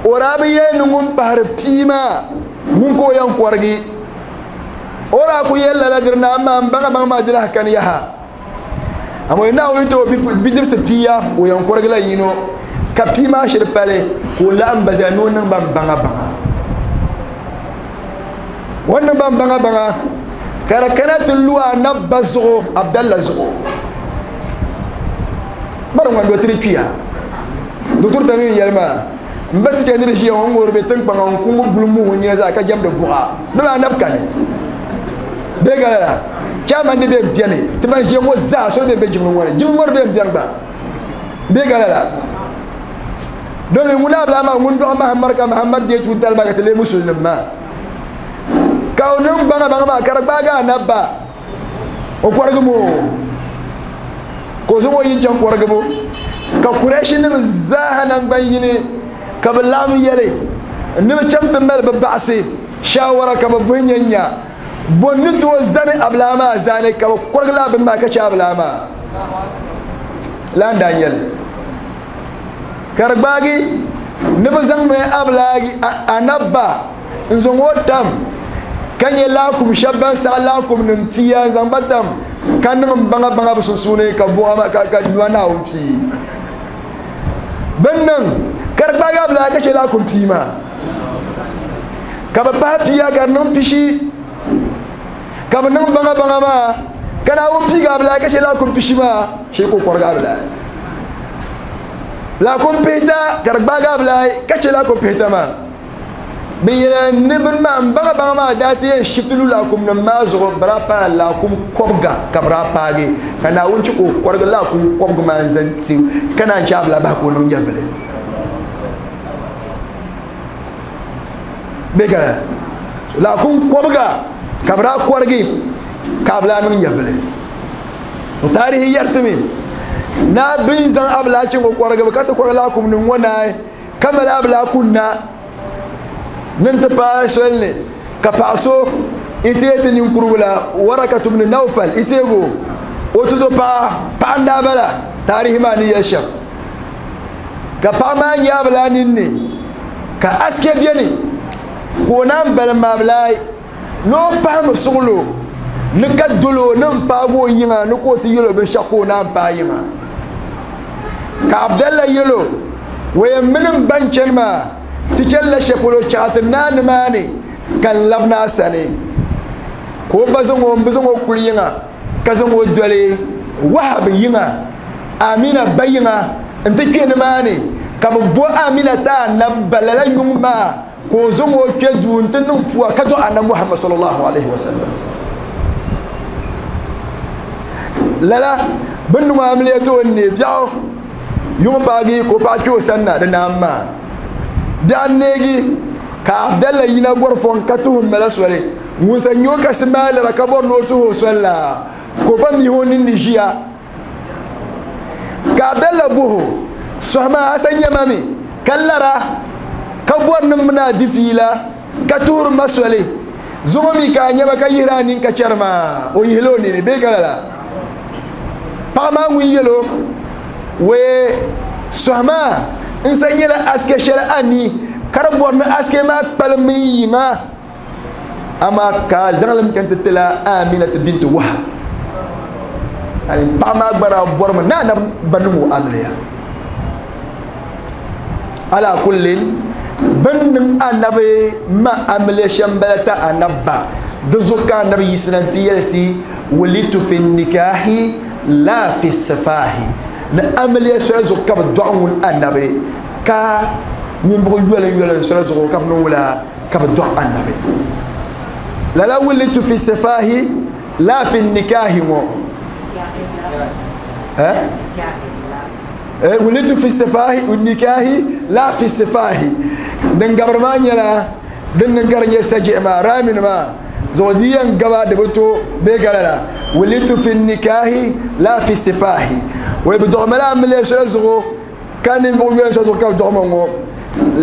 o daa bi yɛli ni ŋun pahiri pia maa ŋun ka o yɛn kɔrigi o daa ku yɛli lala diri na amaa n baŋa baŋa maa di lahi kani yaha amaa Naawuni ti o bidibsi pia o yɛn kɔrigi la yino ka pia maa shiri pali ka o laɣim ba zaa ni o niŋ ba baŋa baŋa o niŋ ba baŋa baŋa ka di kana ti lu anabi ba zuɣu Abdallah zuɣu bari ŋwan dotiri kpiya dotor ta min yɛli maa n ba ti chɛ ni di ʒiya ŋɔ ŋɔri bɛ tiŋkpaŋa n ku ŋɔ guli muhu nyina zaa ka jɛmdi buɣa di maa anabi kani bee gala la chairman di bɛ bɛni ti ban ʒiya ŋɔ zaa so bɛ bɛ jiŋli ŋɔ ni jiŋli ŋɔ di bɛ bɛni gba bee gala la domin ŋun abila maa ŋun dɔɣi Mahamad ka Mahamad deei tuutali maa ka ti lee musulinim maa ka o niŋ baŋa baŋa maa ka di gbaagi anabi ba o kɔrigi mo ka o zaŋ o yi chaŋ kɔrigibu ka Kuraishi nim zaaha nangban yini ka bi laɣim yɛli ni bi chaŋ ti mali bi baɣasi shawara ka bi buhi nya nya bon ni tooi zani abila maa zaani ka bi kɔrigi laa bini maa ka chɛ abila maa lan daa nyɛli ka di gbaagi ni bi zaŋmi abilagi anabba n zaŋ o tam ka nyɛ laakum shɛba ban saɣa laakum nim tia n zaŋ ba tam ka niŋ n baŋa baŋa bi sunsuuni ka buɣa ma ka ka nua Naawuni pii bin niŋ ka di gbaagi abilagi ka chɛ laakum pii maa ka bi pahi pia ka di niŋ pishi ka bi niŋ baŋa baŋa maa ka Naawuni piigi abilagi ka chɛ laakum pishi maa shee ka o kɔrigi abilagi laakum pihita ka di gbaagi abilagi ka chɛ laakum pihita maa bi yɛli ni bini maa n baŋa baŋa maa daa ti yɛn shifti lu laakum nim maa zuɣu bi daa paai laakum kɔbiga ka bi daa paagi ka Naawuni chɛ ka o kɔrigi laakum kɔbiga maa n zaŋ ti ka naan chɛ abila bahi ka o niŋ nyɛvili bee ka laakum kɔbiga ka bi daa kɔrigi ka abila niŋ nyɛvili o taarihi yɛritimi na bin zaŋ abila chaŋ o kɔrigibu ka ti kɔrigi laakum nim ŋɔ naai ka mali abila kunna Ni n ti paai soli ni ka paɣa so iteeti ninkurigu la Warakatu bnu Nawfal iteego o tuzo paɣa paɣa n daa bala taarihi maa ni yɛli shɛm ka paɣa maa nyaabila ninni ka aske beni ka o naan balim maabilai ni o pahami suɣulo ni ka dolo ni n paagi o yiŋa ni ka o ti yɛlo binshaɣu ka o naan paai yiŋa ka Abdallah yɛlo o yɛn mini n ban chani maa ti chanila shɛli polo chaɣa ti naa nimaani ka n labina a sani ka o ba zaŋ o n bi zaŋ o kuli yiŋa ka zaŋ o doli Wahab yiŋa Amina ba yiŋa n ti kpe nimaani ka bi bo Amina ta anab ba lala yuŋ maa ka o zaŋ o kpe duu n ti niŋ puwa ka dɔɣi Annabi Muhammad sallallahu alaihi wasallam lala bin niŋ amiliya ti o n neei biɛɣu yuŋ paagi ka o paɣa kpe o sanna di naam maa biɛɣu n neegi ka Abdallah yina gɔri fɔŋ ka tuhi mala soli ŋun sa nyɛ o kasi maa lara ka bɔri ni o tuhi o soli la ka o ba mihi o ninni ʒiya ka Abdallah buhu sɔhi maa a sa nyɛma mi ka lara ka bɔri ni mina a di fiila ka tuhiri ma soli zuŋɔ mi ka a nyɛma ka yihiri a nini ka chɛri maa o yihila o nini bee ka lala paɣa maa ŋun yɛlo wee sɔhi maa n sa nyɛla aske shɛli a ni ka di bɔri ni aske maa kpalim n yiŋa amaa ka a zaŋli mi chani ti tila Aminatu binti Wahab ani paɣa maa gba daa bɔrimi ni anabi ba niŋ o amiliya ala kullin bin niŋ anabi ma amiliya shɛm bala ta anabi ba di zuɣu ka anabi yiɣisina n ti yɛli ti wulitu fi nikahi la fi sifahi ni amiliya soli zuɣu ka bi dɔɣi ŋun anabi ka ninvuɣu yoli yoli soli zuɣu ka bi niŋ wula ka bi dɔɣi anabi lala wulitu fi sifahi la fi nikahi ŋɔ eh wulitu fi sifahi nikahi la fi sifahi din gabri maa nyɛla din niŋ ka di nyɛ sajihi maa raamin maa zuɣu di yɛn gaba di bi to bee ka lala wulitu fi nikahi la fi sifahi wai bi dɔɣimi la amiliya soli zuɣu ka ninvuɣu yoli soli zuɣu ka bi dɔɣimi ŋɔ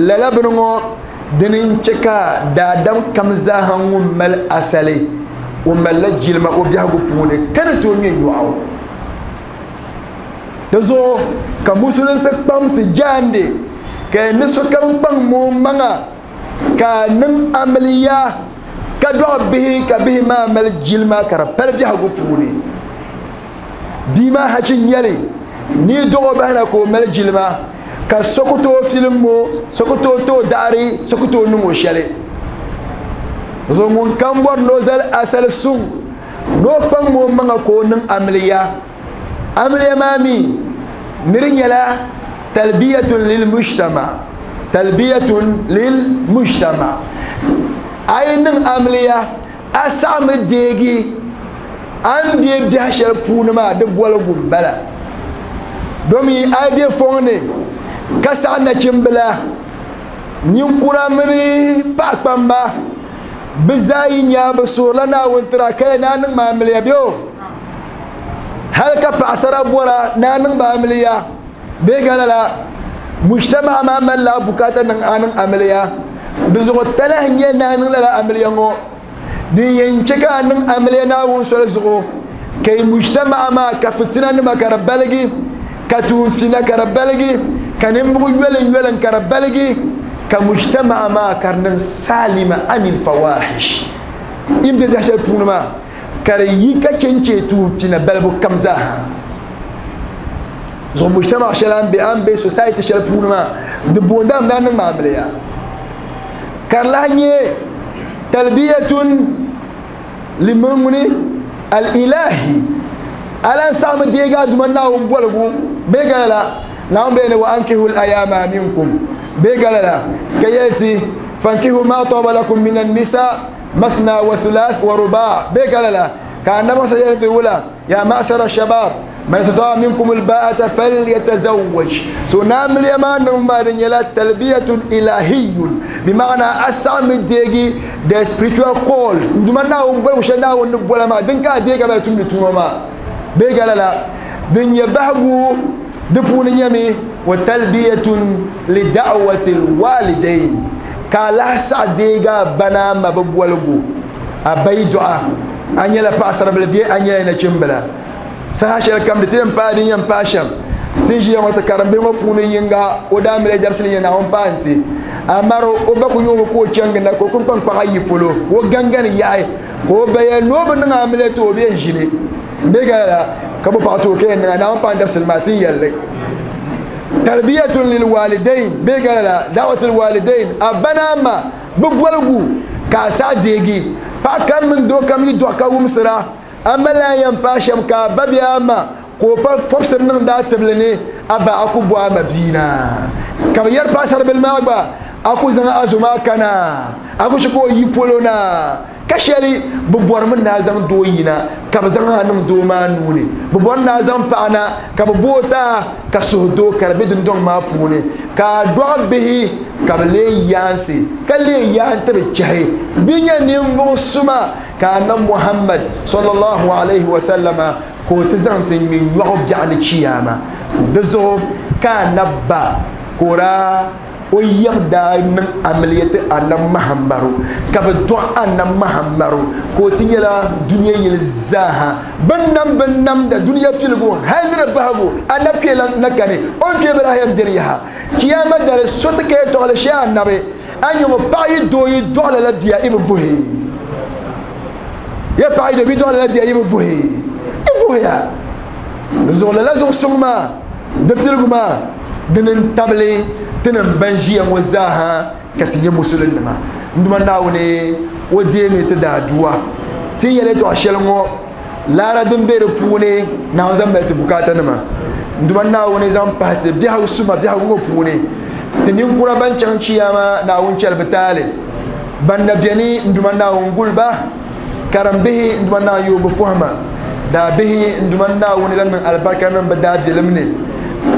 lala bini ŋɔ dini n chɛ ka daadam kam zaaha ŋun mali asali o malila jilima o biɛhigu puuni ka ni tooi ŋmɛ nyɔɣu di zuɣu ka musulinsi kpaŋ ti jaandi ka ni sokam kpaŋ o maŋa ka niŋ amiliya ka dɔɣi bihi ka bihi maa mali jilima ka di pali biɛhigu puuni bia maa hachi nyɛli ni dɔɣi o bahina ka o mali jilima ka so ku tooi filim o so ku tooi tooi daɣari so ku tooi niŋ o shɛli zuɣu ŋun kam bɔri ni o zali asali suŋ ni o kpaŋ o maŋa ka o niŋ amiliya amiliya maa mi ni di nyɛla talbiyatun lil mujtama talbiyatun lil mujtama a yi niŋ amiliya a saɣami deegi a ni bɛ biɛhi shɛli puuni maa di boligu n bala domi a yi bɛ fɔŋ ni ka saɣa nachimbila ninkura mini paɣa kpamba bi zaa yi nyaa bi suurila Naawuni tira ka yɛ naa niŋ ma amiliya bɛ o hali ka paɣasara bɔra naa niŋ ba amiliya bee ka lala mujtama maa malila bukaata niŋ a niŋ amiliya di zuɣu talahi nyɛ naa niŋ lala amiliya ŋɔ din yɛn chɛ ka a niŋ amiliya Naawuni soli zuɣu ka yi mujtama maa ka fitina nima ka di baligi ka tuunfina ka di baligi ka ninvuɣu yolin yolin ka di baligi ka mujtama maa ka di niŋ salima anil fawahish in bɛ biɛhi shɛli puuni maa ka di yi ka chɛnchɛ tuunfina balibu kam zaaha zuɣu mujtama shɛli an bɛ an bɛ society shɛli puuni maa di boondami daa niŋ amiliya ka di lahi nyɛ talbiyatun limumuni al-ilahi ala saɣami deegi a duma Naawuni boligu bee ka lala Naawuni bee ni wa ankihu al-ayama minkum bee ka lala ka yɛli ti fankihu ma taba lakum min an-nisa mathna wa thulath wa ruba bee ka lala ka annabi sa yɛli ti wula ya ma'shara shabab man istata'a minkum al-ba'ata falyatazawwaj so naamiliya maa niŋ maa di nyɛla talbiyatun ilahiyun bi ma'ana a saɣami deegi the spiritual call n duma Naawuni boligu shɛli Naawuni ni bola maa din ka a deegi a bala tumdi tuma maa bee ka lala din nyɛ bahigu di puuni nyɛmi wa talbiyatun li da'wati lwalidain Ka lahi saɣa deegi a ba ni a ma bi boligu a ba yi dɔɣa a nyɛla paɣasaribili bee a nyɛla nachimbila saha shɛli kam di ti yɛn paai din yɛn paai shɛm ti ʒiya ŋɔ ti karimbihi ŋɔ puuni yinga o daa mali dabisili nyɛ Naawuni paai n-ti amari o ba ku nyɛ o ka o chaŋ ginda ka o kuli kpaŋkpaŋ ayi polo ka o gangani yaɣi ka o ba yɛli ni o bi niŋ amiliya ti o bɛ yɛn ʒini bee ka lala ka bi paɣa ti o ka yɛn niŋa Naawuni paai n dabisili maa ti yɛlli tarbiyatun lil walidain bee ka lala da'watul walidain a ba ni a ma bi boligu ka a saɣa deegi paɣa kam mini doo kam yi dɔɣi ka wumsira a ma lahi yɛn paai shɛm ka a ba bee a ma ka o pa pɔbisiri niŋdi a tibili ni a ba a ku bo a ma bia na ka bi yɛri paɣasaribili maa gba a ku zaŋ a zo maa kana a ku chɛ ka o yi polo na ka shɛli bi bɔrimi ni a zaŋ doo yina ka bi zaŋ a niŋ doo maa nuuni bi bɔri ni a zaŋ paɣa na ka bi booi taa ka suhu doo ka di be dundɔŋ maa puuni ka a dɔɣi bihi ka bi lee yaansi ka lee yaan ti bi chɛhi bi nyɛ ninvuɣu suma ka annabi Muhammad sallallahu alaihi wa sallama ka o ti zaŋ ti ŋmɛ nyɔɣu biɛɣu ni chiyaama di zuɣu ka annabi ba ka o daa o yɛm daa niŋ amiliya ti annabi Muhammadu ka bi dɔɣi annabi Muhammadu ka o ti nyɛla dunia yili zaaha bin nam bin namda dunia piligu hali ni di bahigu annabi kpee na kani o ni kpee bi lahi yɛn diri yaha kiyama dali so ti ka yɛltɔɣali shee annabi a nyɛ ŋɔ paɣa yi doo yi dɔɣi lala bia i bi vuhi ya paɣa yi doo bi dɔɣi lala bia i bi vuhi i vuhiya di zuɣu lala zuɣu suŋ maa di piligu maa dini n tabili tinim ban ʒiya ŋɔ zaaha ka ti nyɛ musulinnima n duma Naawuni o deemi ti daa duwa ti ni yɛli yɛltɔɣa shɛli ŋɔ laara din be di puuni Naawuni zaŋ mali ti bukaata nima n duma Naawuni zaŋ pahi ti biɛhigu suma biɛhigu ŋɔ puuni ti ninkura ban chaŋ chiyaama Naawuni chɛli bi taali ban na beni n duma Naawuni guli ba karimbihi n duma Naawuni yooi bi fɔhima daabihi n duma Naawuni zaŋ niŋ alibarika niŋ bi daabilim ni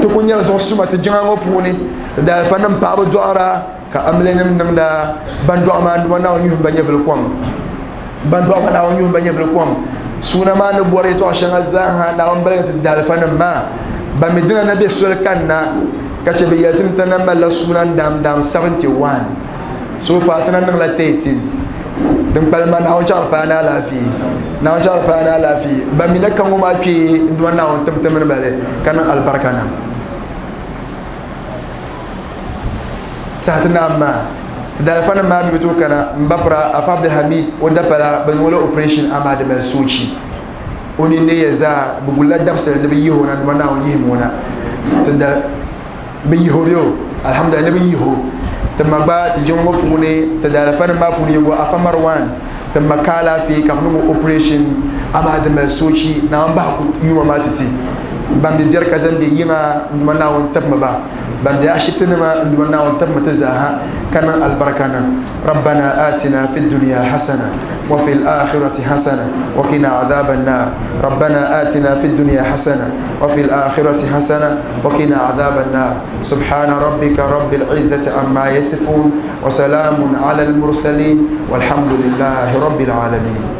ti ku nyɛla zuɣu suma ti jiŋa ŋɔ puuni ti daalifa nim paɣaba dɔɣira ka amiliya nim niŋda ban dɔɣi maa n duma Naawuni yuhim ba nyɛvili kom ban dɔɣi maa Naawuni yuhim ba nyɛvili kom suuna maa ni bɔri yɛltɔɣa shɛŋa zaaha Naawuni baligi ti daalifa nim maa ban mi dina na be soli kanna ka chɛ bi yɛli ti ni ti na malila suuna n daam daam seventy one so far ti na niŋla thirteen din kpalim maa Naawuni chaɣari paai ni alaafee Naawuni chaɣari paai ni alaafee ban mi na ka ŋɔ maa kpee n duma Naawuni tim ti mini bali ka niŋ alibarika niŋ saha ti naam maa ti daalifa nim maa mi bi tooi kana n ba pira Afa Abdulhamid o dapala bi niŋ o la operation amaa di mali soochi o nini neeya zaa bi gulila dabisili ni bi yihi o na n duma Naawuni yihimi o na ti da bi yihi o bee o alhamdulillah ni bi yihi o ti ma gba ti jiŋ ŋɔ puuni ti daalifa nim maa puuni yingo Afa Marwan ti ma ka alaafee ka bi niŋ o operation amaa di mali soochi Naawuni bahi ku yuuma maa ti ti ban be biɛri ka zaŋ be yiŋa n duma Naawuni tibimi ba ban be ashibiti nima n duma Naawuni tibimi ti zaaha ka niŋ alibarika niŋ rabbana atina fi dunya hasana wa fil akhirati hasana wa qina adhaban nar rabbana atina fi dunya hasana wa fil akhirati hasana wa qina adhaban nar subhana rabbika rabbil izzati amma yasifun wa salamun ala al mursalin walhamdulillahi rabbil alamin.